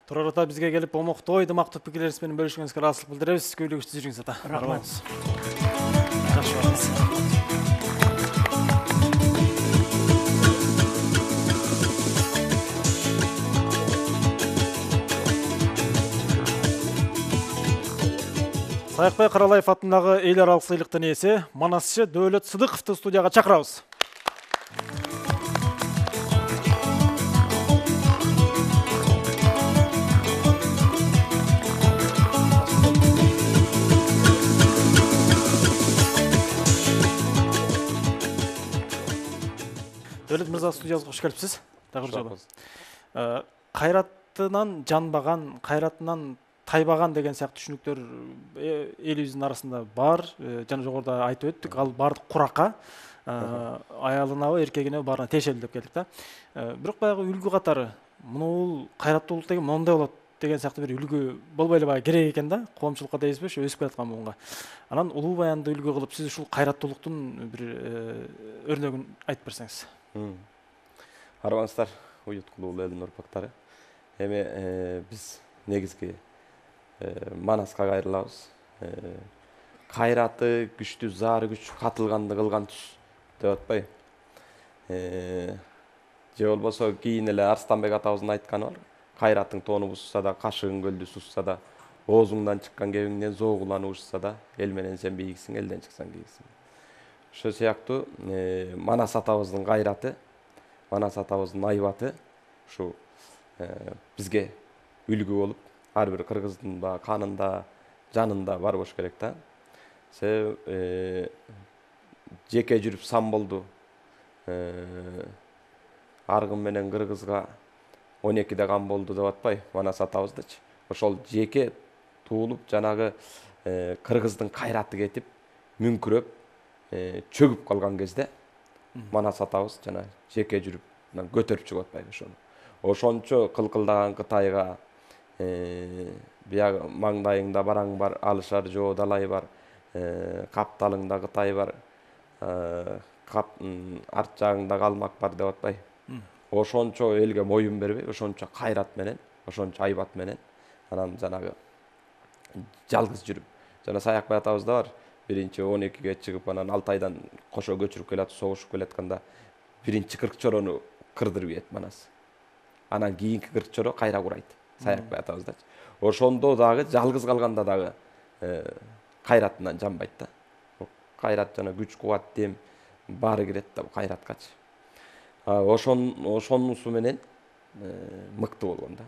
Турар ата бизге келип омоктоо ойдумактуу пикирлериңиз менен бөлүшкөнүңүзгө ыраазычылык билдиребиз. Күбөлүгүчтүү жүрүңүз ата. Рахмат. Жакшы болуңуз. Саякбай Каралаев атындагы эл аралык сыйлыктын ээси Манасчы Дөөлөт Сыдыковду студияга чакырабыз. Дөөлөт мырза, студиябызга кош келипсиз. Дагы бир жолу. Кайратынан жанбаган, кайратынан тайбаган деген сыяктуу түшүнүктөр элибиздин арасында бар. Жана жогоруда айтып өттүк, ал баардык куракка аялынабы, эркегинеби баарына тиешелүү деп келдик да. Бирок баягы үлгү катары мунул кайраттуулук деген моундай болот деген сыяктуу бир үлгү болбой эле баягы керек экен да, коомчулукка дейбизби, ошо өсүп келаткан буунга. Анан улуу баянды үлгү кылып сиз ушул кайраттуулуктун бир өрнөгүн айтып берсеңиз. Арбаңыздар, уюткулуу элдин урпактары. Эми биз негизги Манаска кайрылабыз. Кайраты күчтүү, заары күч, катылганды кылган түз деп атпайбы. Же болбосо кийин эле Арстанбек атабыздын айтканы бар. Кайратың тоону бузса да, кашыгың көлдү сусса да, оозуңдан чыккан кебиңден зоогуланып учса да, эл менен сен бийиксиң, элден чыксаң кийиксиң. Ошо сыяктуу Манас атабыздын кайраты, Манас атабыздын айбаты ушу бизге үлгү болуп, ар бир кыргыздын ба канында, жанында бар болуш керек да. Себеби жеке жүрүп сан болду. Аргын менен кыргызга он экиде кан болду деп атпайбы Манас атабыздычы. Ошол жеке туулуп, жанагы кыргыздын кайраты кетип, мүңкүрөп, чөгүп калган кезде Манас атабыз жана жеке жүрүп көтөрүп чыгып атпайбы ошону. Ошончо кылкылдаган Кытайга биягы маңдайыңда бараң бар, алышар жоо далай бар, капталыңда Кытай бар, арт жагыңда калмак бар деп атпайбы. Ошончо элге моюн бербей, ошончо кайрат менен, ошончо айбат менен анан жанагы жалгыз жүрүп. Жана Саякбай атабыз да бар. Биринчи он экиге чыгып, анан алты айдан кошо көчүрүп келатып, согушуп келатканда биринчи кырк чорону кырдырып ийет Манас. Анан кийинки кырк чоро кайра курайт Саякбай атабыздачы. Ошондо дагы жалгыз калганда дагы кайратынан жанбайт да. Кайрат жана күч, кубат, дем баары кирет да бу кайраткачы. Ошон ошонусу менен мыкты болгон да.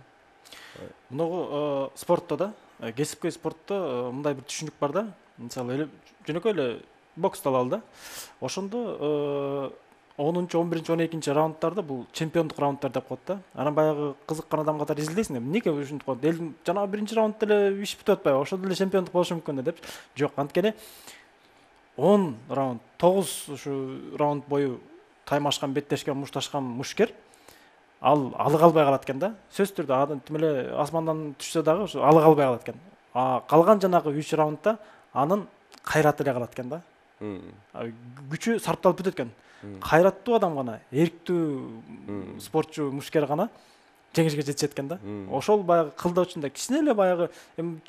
Мунугу спортто да, кесипкөй спортто мындай бир түшүнүк бар да. Мисалы эле жөнөкөй эле боксту алалы да. Ошондо онунчу, он биринчи, он экинчи раундтарда бул чемпиондук раундтар деп коет да. Анан баягы кызыккан адам катары изилдейсиң, эмнеге ушинтип коет? Эл жанагы биринчи раундда эле иш бүтүп атпайбы? Ошол деле чемпиондук болушу мүмкүн деп. Жок, анткени он раунд, тогуз ушу раунд бою таймашкан, беттешкен, мушташкан мушкер ал алы калбай калат экен да. Сөзсүз түрдө адам тим эле асмандан түшсө дагы ушу алы калбай калат экен. А калган жанагы үч раундда анын кайраты эле калат экен да. Күчү сарпталып бүтөт экен. Кайраттуу адам гана, эрктүү спортчу, мушкер гана жеңишке жетишет экен да. Ошол баягы кылдоо учунда кичине эле баягы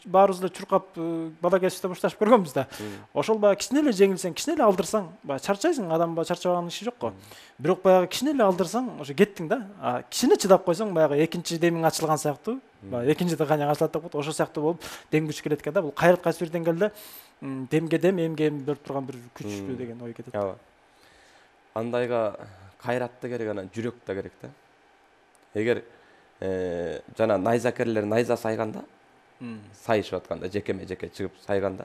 баарыбыз эле чуркап бала кезибизде мушташып көргөнбүз да. Ошол баягы кичине эле жеңилсең, кичине эле алдырсаң, баягы чарчайсың, адам баягы чарчабаган иши жок го. Бирок баягы кичине эле алдырсаң, ошо кеттиң да. А кичине чыдап койсоң, баягы экинчи демиң ачылган сыяктуу, баягы экинчи дыханяң ачылат деп коет. Ошол сыяктуу болуп дем күч келет экен да. Бул кайрат кайсы бир деңгээлде демге дем, эмге эм берип турган бир күчтүү деген ой кетет. Ооба. Андайга кайрат да керек, анан жүрөк да керек да. Эгер жана найзакерлер найза сайганда, сайышып атканда, жекеме жеке чыгып сайганда,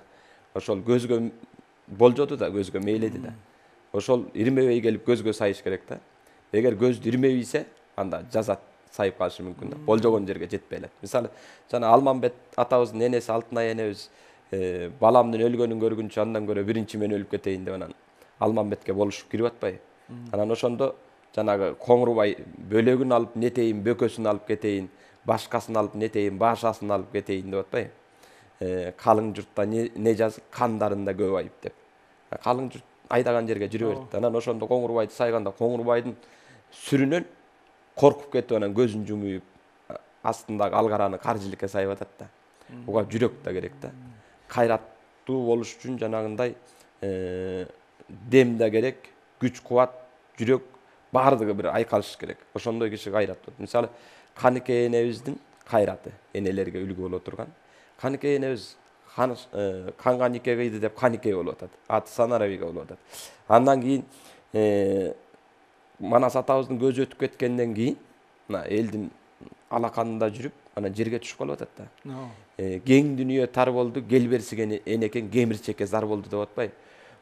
ошол көзгө болжоду да, көзгө мейледи да. Ошол ирмебей келип көзгө сайыш керек да. Эгер көздү ирмебейсе, анда жазат, сайып калышы мүмкүн да. Болжогон жерге жетпей элет. Мисалы, жана Алмамбет атабыздын энеси Алтынай энебиз баламдын өлгөнүн көргүнчө андан көрө биринчи мен өлүп кетейин деп анан Алмамбетке болушуп кирип атпайбы? Анан ошондо жанагы Коңурбай бөлөгүн алып нетейин, бөкөсүн алып кетейин, башкасын алып нетейин, башасын алып кетейин деп атпайбы? Калың журтта не жазык, кандарында көп айып деп. Калың журт айдаган жерге жүрө берет. Анан ошондо Коңурбайды сайганда Коңурбайдын сүрүнөн коркуп кетип анан көзүн жумуп астындагы алгараны каржылыкка сайып атат да. Буга жүрөк да керек да. Кайраттуу болуш үчүн жанагындай дем да керек, күч кубат, жүрөк баардыгы бир айкалыш керек. Ошондой киши кайраттуу. Мисалы, Каныкей энебиздин кайраты, энелерге үлгү боло турган. Каныкей энебиз канга нике кыйды деп Каныкей болуп атат. Аты Санарабига болуп атат. Андан кийин Манас атабыздын көзү өтүп кеткенден кийин мына элдин алаканында жүрүп, анан жерге түшүп калып атат да. Кең дүнүйө тар болду, кел берсиген энекен кемирчекке зар болду деп атпайбы?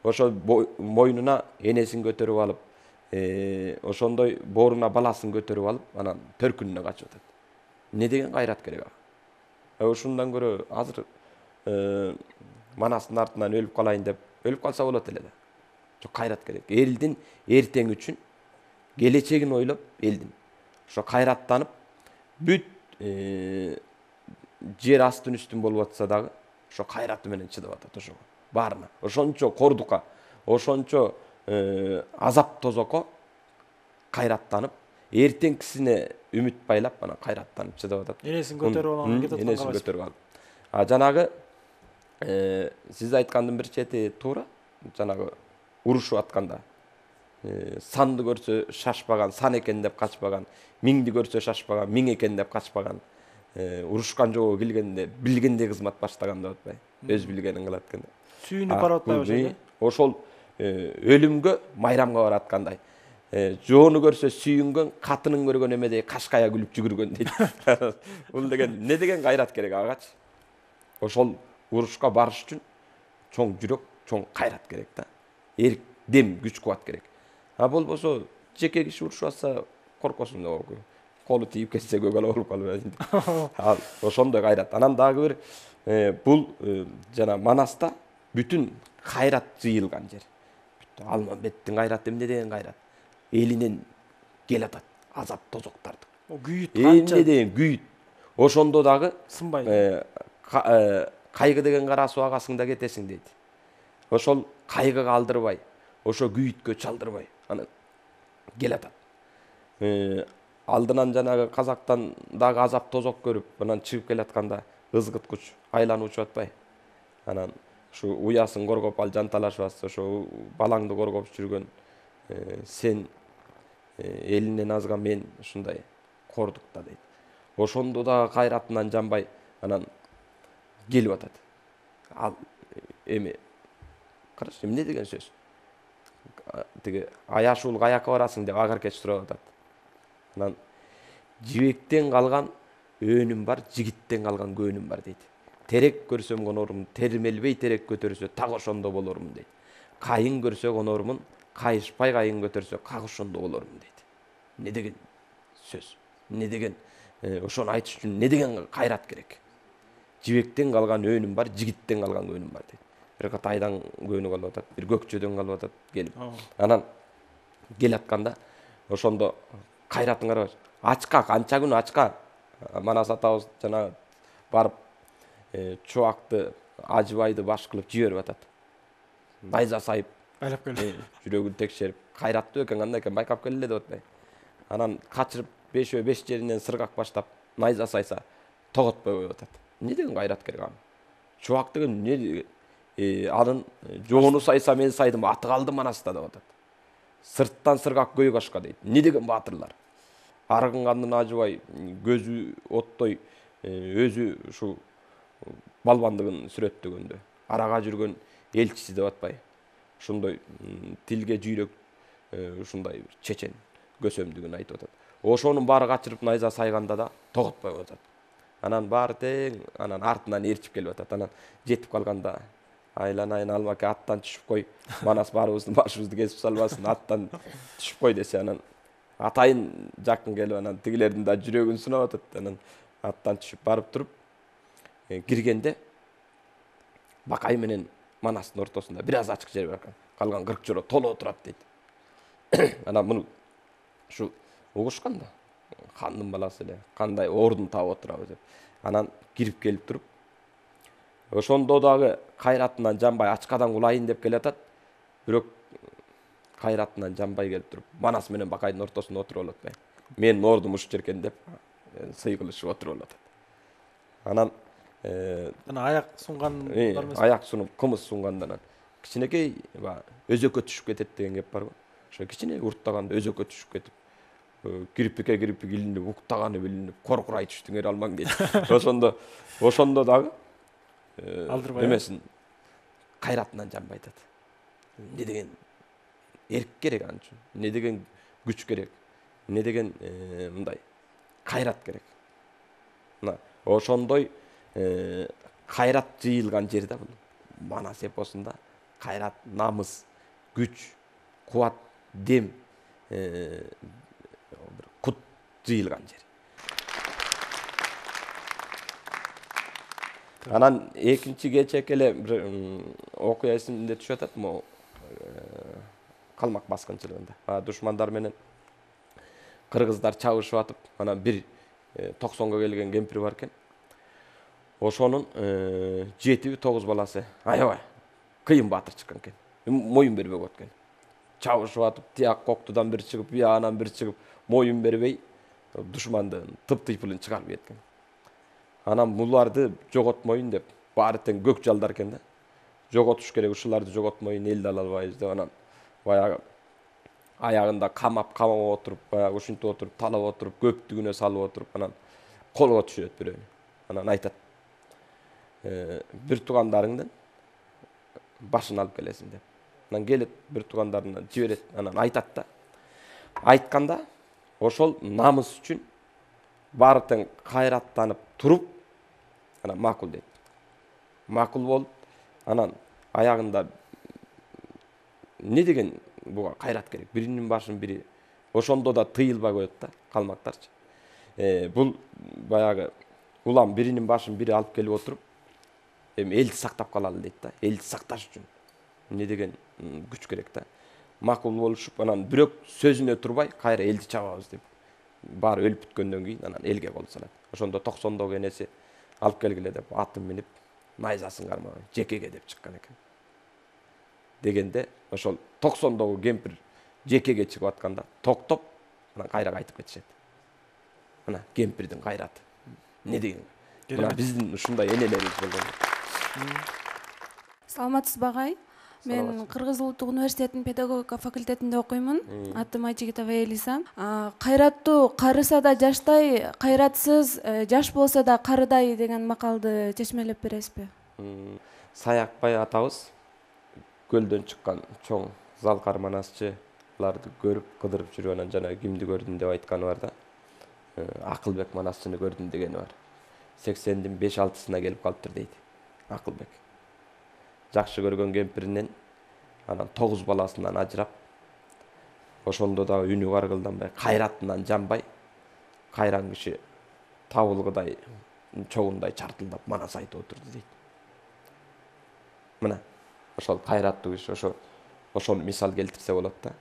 Ошо мойнуна энесин көтөрүп алып, ошондой бооруна баласын көтөрүп алып, анан төркүнүнө качып атат. Не деген кайрат керек ага? Ушундан көрө азыр Манастын артынан өлүп калайын деп өлүп калса болот эле да. Жок, кайрат керек. Элдин эртең үчүн, келечегин ойлоп элдин. Ошо кайраттанып, бүт жер астын үстүн болуп атса дагы, ошо кайраты менен чыдап атат ошого. Баарына. Ошончо кордукка, ошончо азап тозокко кайраттанып, эртеңкисине үмүт байлап, анан кайраттанып чыдап атат. Энесин көтөрүп алган кетип аткан Энесин көтөрүп алып. А жанагы сиз айткандын бир чети туура. Жанагы урушуп атканда санды көрсө шашпаган, сан экен деп качпаган, миңди көрсө шашпаган, миң экен деп качпаган, урушкан жолго келгенде билгендей кызмат баштаган деп атпайбы? Өз билгенин кылат экен. Сүйүнүп барып атпайбы? Ошол өлүмгө майрамга бараткандай. Жоону көрсө сүйүнгөн, катынын көргөн эмедей кашкая күлүп жүгүргөн дейт. Бул деген не деген кайрат керек агачы? Ошол урушка барыш үчүн чоң жүрөк, чоң кайрат керек да. Эрк, дем, күч кубат керек. А болбосо жеке киши урушуп атса коркосуң да, колу тийип кетсе көгала болуп калып. Ал ошондой кайрат. Анан дагы бир бул жана Манаста бүтүн кайрат жыйылган жер. Алмамбеттин кайраты эмне деген кайрат? Элинен кел атат, азап тозоктарды. О күйүт канча? Эмне деген күйүт. Ошондо дагы сынбай. Кайгы деген кара суу агасыңда кетесиң дейт. Ошол кайгыга алдырбай, ошо күйүткө чалдырбай, анан кел атат. Алдынан жанагы казактан дагы азап тозок көрүп, анан чыгып келатканда ызгыткыч айланып учуп атпайбы? Анан ушу уясын коргоп ал жанталашып атса, ошо балаңды коргоп жүргөн сен элинен азга мен ушундай кордук да дейт. Ошондо дагы кайратынан жанбай, анан келип атат. Ал эми караш, эмне деген сөз? Тиги аяшуул каяка барасың деп Агаркеч сурап атат. Анан жибектен калган өөнүм бар, жигиттен калган көөнүм бар дейт. Терек көрсөм конормун, термелбей терек көтөрсө так ошондо болормун дейт. Кайын көрсө конормун, кайышпай кайын көтөрсө как ошондо болормун дейт. Не деген сөз? Не деген ошону айтыш үчүн не деген кайрат керек? Жибектен калган өөнүм бар, жигиттен калган көөнүм бар дейт. Бир кат айдан көөнү калып атат, бир көкчөдөн калып атат келип. Анан келатканда ошондо кайратын карабач. Ачка, канча күн ачка. Манас атабыз жана барып чубакты, ажыбайды баш кылып жиберип атат. Найза сайып, айлап келди. Жүрөгүн текшерип, кайраттуу экен, кандай экен байкап келеле деп атпайбы? Анан качырып бешөө беш жеринен сыргак баштап найза сайса, тоготпой коюп атат. Не деген кайрат керек аны? Чубак деген не деген? Анын жоону сайса мен сайдым, аты калды Манаста деп атат. Сырттан сыргак көй кашка дейт. Не деген баатырлар? Арыгын кандын ажыбай, көзү оттой, өзү ушу балбандыгын сүрөттөгөндө, арага жүргөн элчиси деп атпайбы? Ушундай тилге жүйрөк, ушундай бир чечен көсөмдүгүн айтып атат. Ошонун баары качырып найза сайганда да тоготпой коюп атат. Анан баары тең, анан артынан ээрчип келип атат. Анан жетип калганда айланайын Алмаке, аттан түшүп кой, Манас баарыбыздын башыбызды кесип салбасын, аттан түшүп кой десе, анан атайын жакын келип, анан тигилердин да жүрөгүн сынап атат. Анан аттан түшүп барып туруп киргенде Бакай менен Манастын ортосунда бир аз ачык жер бар экен. Калган кырк жоло толо турат дейт. Анан муну ушу угушкан да. Хандын баласы эле, кандай ордун таап отурабы деп. Анан кирип келип туруп, ошондо дагы кайратынан жанбай ачкадан кулайын деп келатат. Бирок кайратынан жанбай келип туруп, Манас менен Бакайдын ортосунда отуруп алып атпайбы? Менин ордум ушул жеркен деп сый кылышып отуруп алып атат. Анан Жана аяк сунган аяк сунуп кымыз сунгандан кичинекей өзөккө түшүп кетет деген кеп барбы. Ошо кичине урттаганда өзөккө түшүп кетип, кирпикке кирпик илинип, уктаганы билинип, коркурай түштүңөр алмаң дейт. Ошондо ошондо дагы немесин кайратынан жанбай атат. Эмне деген эрк керек ан үчүн, эмне деген күч керек, эмне деген мындай кайрат керек. Мына ошондой кайрат жыйылган жер да бул. Манас эпосунда кайрат, намыс, күч, кубат, дем, кут жыйылган жер. Анан экинчи кечек эле бир окуя эсимде түшүп атат, могу Калмак баскынчылыгында. Душмандар менен кыргыздар чабышып атып, анан бир токсонго келген кемпир бар экен. Ошонун жети тогуз баласы аябай кыйын баатыр чыккан экен. Моюн бербей коет экен. Чабышып атып, тияк коктудан бир чыгып, биягынан бир чыгып, моюн бербей душмандын тып-тыйпылын чыгарып кеткен. Анан буларды жоготмоюн деп баары тең көк жалдар экен да. Жоготуш керек, ушуларды жоготмоюн, элди ала албайбыз деп анан баягы аягында камап, камап отуруп, баягы ушинтип отуруп, талап отуруп, көптүгүнө салып отуруп, анан колго түшүрөт бирөөнү. Анан айтат: бир туугандарыңдын башын алып келесиң деп. Анан келет бир туугандарына жиберет, анан айтат да. Айтканда ошол намыс үчүн баары тең кайраттанып туруп, анан макул дейт. Макул болуп, анан аягында эмне деген буга кайрат керек. Биринин башын бири ошондо да тыйылбай коет да калмактарчы. Бул баягы улам биринин башын бири алып келип отуруп, эми элди сактап калалы дейт да. Элди сакташ үчүн эмне деген күч керек да. Макул болушуп, анан бирок сөзүнө турбай, кайра элди чабабыз деп. Баары өлүп бүткөндөн кийин анан элге кол салат. Ошондо токсондогу энеси алып келгиле деп атын минип, найзасын кармаган, жекеге деп чыккан экен. Дегенде ошол токсондогу кемпир жекеге чыгып атканда токтоп, анан кайра кайтып кетишет. Мына кемпирдин кайраты. Эмне деген? Мына биздин ушундай энелерибиз болгон. Саламатсызбы агай? Мен Кыргыз Улуттук университетинин педагогика факультетинде окуймун. Атым Айжигитова Элиза. Кайраттуу карыса да жаштай, кайратсыз жаш болсо да карыдай деген макалды чечмелеп бересизби? Саякбай атабыз көлдөн чыккан чоң залкар манасчыларды көрүп, кыдырып жүрүп, анан жана кимди көрдүм деп айтканы бар да. Акылбек манасчыны көрдүм дегени бар. сексендин беш алтысына келип калыптыр дейт Акылбек. Жакшы көргөн кемпиринен анан тогуз баласынан ажырап, ошондо дагы үнү каргылданбай, кайратынан жанбай, кайран киши табылгыдай чогундай чартылдап манас айтып отурду дейт. Мына ошол кайраттуу киши, ошо ошону мисал келтирсе болот да.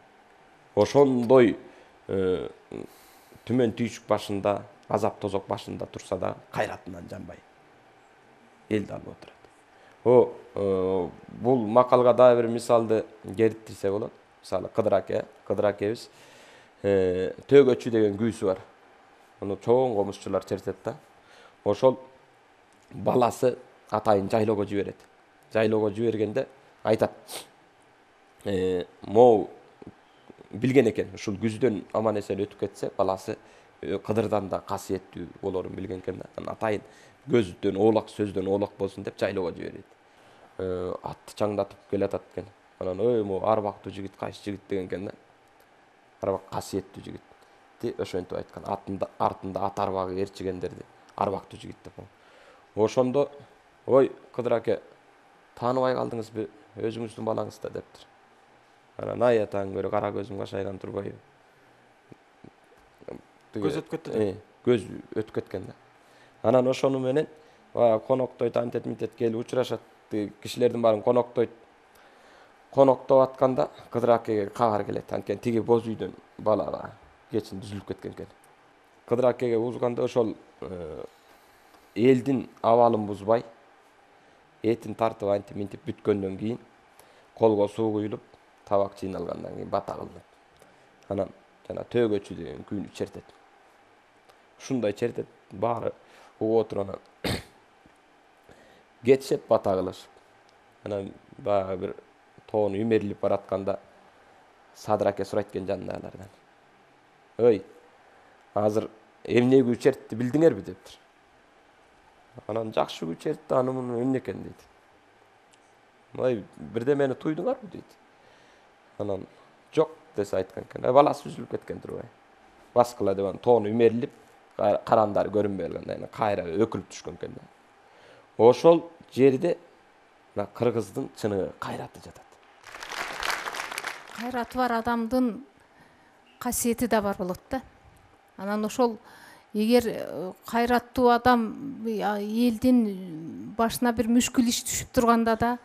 Ошондой түмөн түйшүк башында, азап тозок башында турса да кайратынан жанбай элди алып отурат. О, бул макалга дагы бир мисалды келтирсе болот. Мисалы Кыдыр аке, Кыдыр акебиз Төгөчү деген күүсү бар. Аны чоң комузчулар чертет да. Ошол баласы атайын жайлоого жиберет. Жайлоого жибергенде айтат: "Могу билген экен, ушул күздөн аман эсен өтүп кетсе, баласы Кыдырдан да касиеттүү болорун билген экен да. Атайын көздөн оолак, сөздөн оолак болсун деп жайлоого жиберет. Атты чаңдатып келатат экен. Анан ой, могу арбактуу жигит, кайсы жигит деген экен да. Арбак касиеттүү жигит. Ти ошентип айткан. Артында артында ат арбагы ээрчигендерди арбактуу жигит деп. Ошондо ой, Кыдыр аке, тааныбай калдыңызбы? Өзүңүздүн балаңыз да дептир. Анан ай атаң көрө кара көзүм кашайган турбайбы? Көз өтүп кетти да. Көз өтүп кеткен да. Анан ошону менен баягы коноктойт, антет митет келип учурашат. Кишилердин баарын коноктойт. Коноктоп атканда Кыдыр акеге кабар келет. Анткени тиги боз үйдөн балага кечин түзүлүп кеткен экен. Кыдыр акеге узганда ошол элдин абалын бузбай, этин тартып антип минтип бүткөндөн кийин колго суу куюлуп, табак чыйналгандан кийин бата кылынат. Анан жана Төгөчү деген күүнү чертет. ушундай чертет баары угуп отуруп анан кетишет бата кылышып. Анан баягы бир тоону үймерилип баратканда Садыр аке сурайт экен жанындагылардан. Ой, азыр эмне күү чертти билдиңерби дептир. Анан жакшы күү чертти, аны муну эмне экен дейт. Ой, бирдемени туйдуңарбы дейт. Анан жок десе айткан экен. Баласы үзүлүп кеткен турбай. Баскыла деп анан тоону үймерилип, карандары көрүнбөй калганда анан кайра өкүлүп түшкөн экен да. Ошол жерде мына кыргыздын чыныгы кайраты жатат. Кайраты бар адамдын касиети да бар болот да. Анан ошол эгер кайраттуу адам элдин башына бир мүшкүл иш түшүп турганда да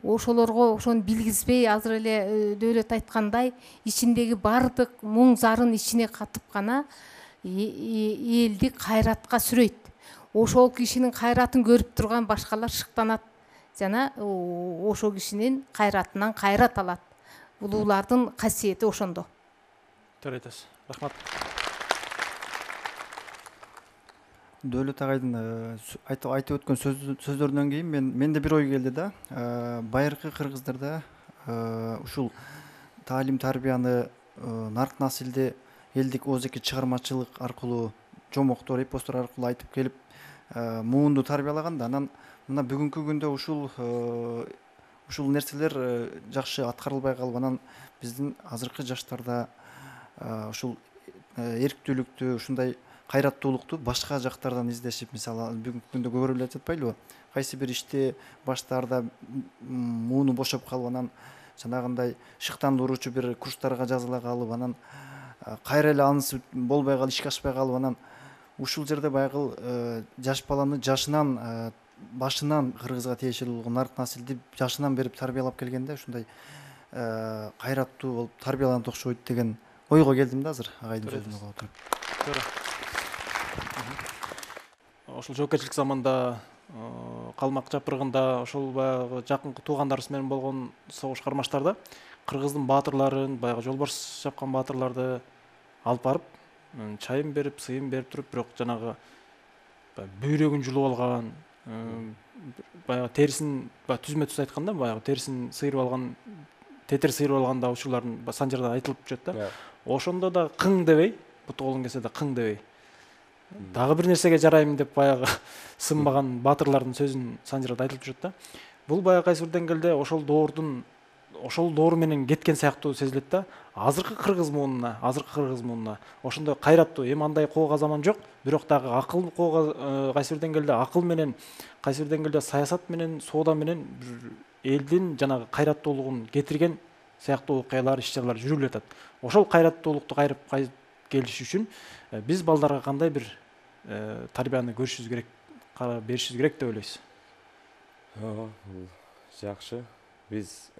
ошолорго ошону билгизбей, азыр эле Дөөлөт айткандай, ичиндеги бардык муң зарын ичине катып гана элди кайратка сүрөйт. Ошол кишинин кайратын көрүп турган башкалар шыктанат жана ошол кишинин кайратынан кайрат алат. Улуулардын касиети ошондо. Туура айтасыз. Рахмат. Дөөлөт агайдын айтып өткөн сөздөрүнөн кийин мен менде бир ой келди да. Байыркы кыргыздарда ушул таалим тарбияны нарк насилде элдик оозеки чыгармачылык аркылуу, жомоктор, эпостор аркылуу айтып келип муунду тарбиялаганда, анан мына бүгүнкү күндө ушул ушул нерселер жакшы аткарылбай калып, анан биздин азыркы жаштарда ушул эрктүүлүктү, ушундай кайраттуулукту башка жактардан издешип, мисалы бүгүнкү күндө көрүлүп жатпайлыбы? Кайсы бир иште баштаарда мууну бошоп калып, анан жанагындай шыктандыруучу бир курстарга жазыла калып, анан кайра эле анысы болбой калып, ишке ашпай калып, анан ушул жерде баягы жаш баланы жашынан башынан кыргызга тиешелүү болгон нарк насилди жашынан берип тарбиялап келгенде ушундай кайраттуу болуп тарбияланат окшойт деген ойго келдим да азыр агайдын сөзүн угуп отуруп. Туура. Ошол жоопкерчилик заманда калмак жапыргында ошол баягы жакынкы туугандарыбыз менен болгон согуш кармаштарда кыргыздын баатырларын, баягы жолбарс чапкан баатырларды алып барып, чайын берип, сыйын берип туруп, бирок жанагы бүйрөгүн жулуп алган, баягы терисин түзмө түз айтканда, баягы терисин сыйрып алган, тетер сыйрып алганда учурлардын санжарда айтылып жүрөт да. Ошондо да кың дебей, буту колун келсе да кың дебей, дагы бир нерсеге жарайм деп баягы сынбаган баатырлардын сөзүн санжарда айтылып жүрөт да. Бул баягы кайсы бир деңгээлде ошол доордун ошол доор менен кеткен сыяктуу сезилет да. Азыркы кыргыз муунуна, азыркы кыргыз муунуна ошондой кайраттуу, эми андай коога заман жок, бирок дагы акыл коога кайсы бир деңгээлде акыл менен, кайсы бир деңгээлде саясат менен, соода менен элдин жанагы кайраттуулугун кетирген сыяктуу окуялар, иш-чаралар жүрүлүп жатат. Ошол кайраттуулукту кайрып келиш үчүн биз балдарга кандай бир тарбияны көрүшүбүз керек, беришибиз керек деп ойлойсуз? Ооба, жакшы. Биз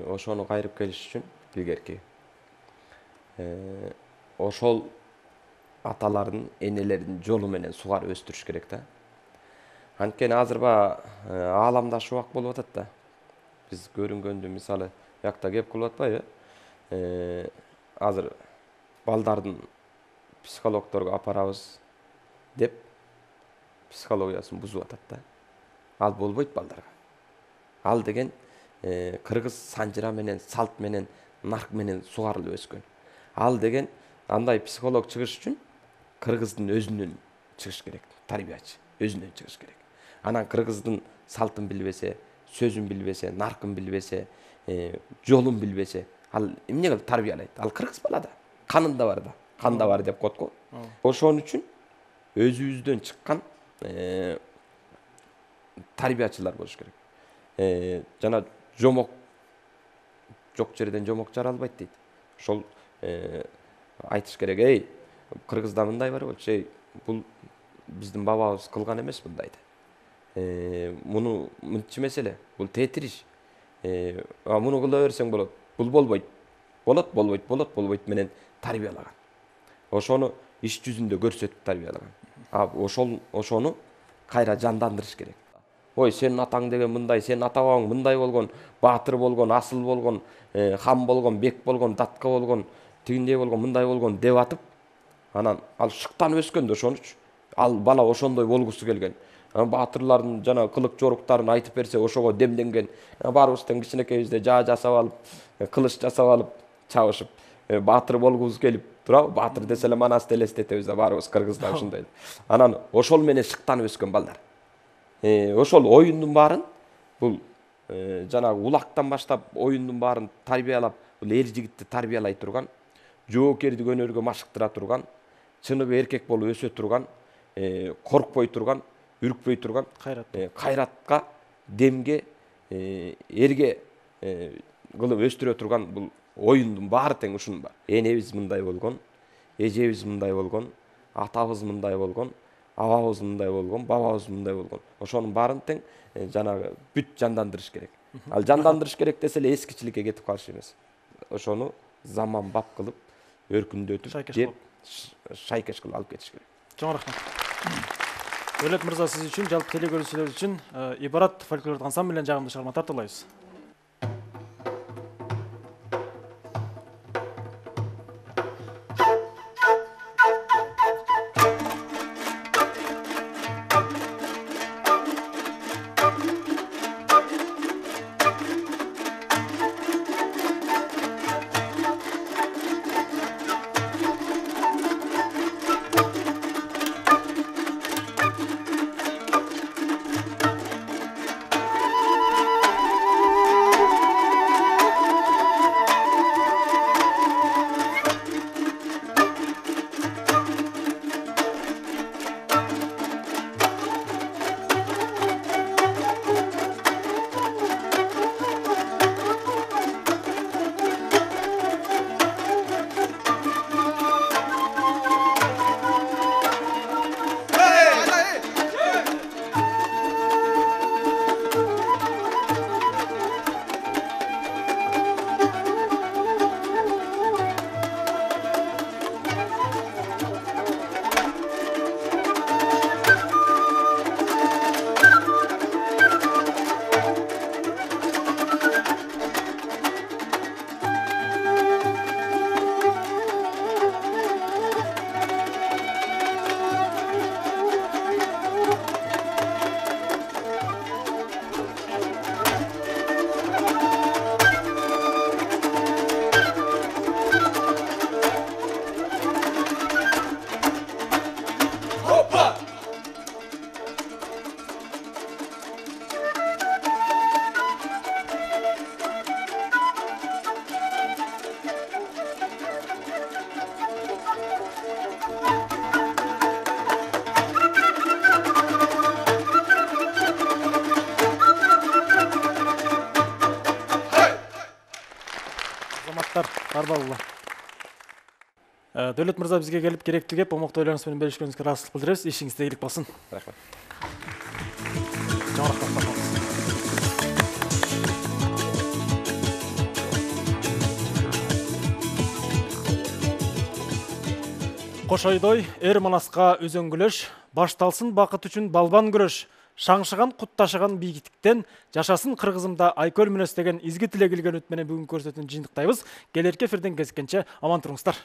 ошону кайрып келиш үчүн илгерки ошол аталардын, энелердин жолу менен сугарып өстүрүш керек да. Анткени азыр баягы ааламда шубак болуп атат да. Биз көрүнгөндү мисалы биякта кеп кылып атпайбы? Азыр балдардын психологдорго апарабыз деп психологиясын бузуп атат да. Ал болбойт балдарга. Ал деген кыргыз санжыра менен, салт менен, нарк менен сугарылып өскөн. Ал деген андай психолог чыгыш үчүн кыргыздын өзүнөн чыгыш керек, тарбиячы өзүнөн чыгыш керек. Анан кыргыздын салтын билбесе, сөзүн билбесе, наркын билбесе, жолун билбесе, ал эмне кылып тарбиялайт? Ал кыргыз бала да, канында бар да, канда бар деп коет го. Ошон үчүн өзүбүздөн чыккан тарбиячылар болуш керек. Жана жомок жок жерден жомок жаралбайт дейт. Ошол айтыш керек, эй, кыргызда мындай бар болчу, эй, бул биздин бабабыз кылган эмес мындайды. Муну мынчы меселе, бул тетириш. Муну кыла берсең болот, бул болбойт. Болот, болбойт, болот, болбойт менен тарбиялаган. Ошону иш жүзүндө көрсөтүп тарбиялаган. А ошол ошону кайра жандандырыш керек. Ой, сенин атаң деген мындай, сенин ата бабаң мындай болгон, баатыр болгон, асыл болгон, хан болгон, бек болгон, датка болгон, тигиндей болгон, мындай болгон деп атып, Анан ал шыктанып өскөн да ошонучу. Ал бала ошондой болгусу келген. Баатырлардын жана кылык жоруктарын айтып берсе ошого демденген. Баарыбыздан кичинекейибизде жаа жасап алып, кылыч жасап алып, чабышып, баатыр болгубуз келип турабы? Баатыр десе эле Манасты элестетебиз да баарыбыз кыргызда ушундай. Анан ошол менен шыктанып өскөн балдар. Ошол оюндун баарын бул жанагы улактан баштап оюндун баарын тарбиялап, бул эр жигитти тарбиялай турган, жоокердик өнөргө машыктыра турган, чыныгы эркек болуп өсө турган, коркпой турган, үркпөй турган кайратка, демге, эрге кылып өстүрө турган бул оюндун баары тең ушунун бар. Энебиз мындай болгон, эжебиз мындай болгон, атабыз мындай болгон, абабыз мындай болгон, бабабыз мындай болгон. Ошонун баарын тең жанагы бүт жандандырыш керек. Ал жандандырыш керек десе эле эскичиликке кетип калыш эмес. Ошону заман бап кылып, өркүндөтүп, жеп, шайкеш кылып алып кетиш керек. Чоң рахмат. Өлөт мырза, сиз үчүн, жалпы телекөрүүчүлөр үчүн Ибарат фольклордук ансамбль менен жагымдуу чыгарма тартуулайбыз. Дөөлөт мырза бизге келип керектүү кеп, момоктуу ойлоруңуз менен бөлүшкөнүңүзгө ыраазычылык билдиребиз. Ишиңизде ийгилик болсун. Рахмат. Чоң рахмат. Кош ойдой, эр Манаска өзөн күлөш, башталсын бакыт үчүн балбан күрөш. Шаңшыган кутташыган бийиктиктен жашасын кыргызымда айкөл мүнөз деген изги тилек илген үт менен бүгүн көрсөтүүнү жыйынтыктайбыз. Келерки эфирден кезиккенче аман туруңуздар.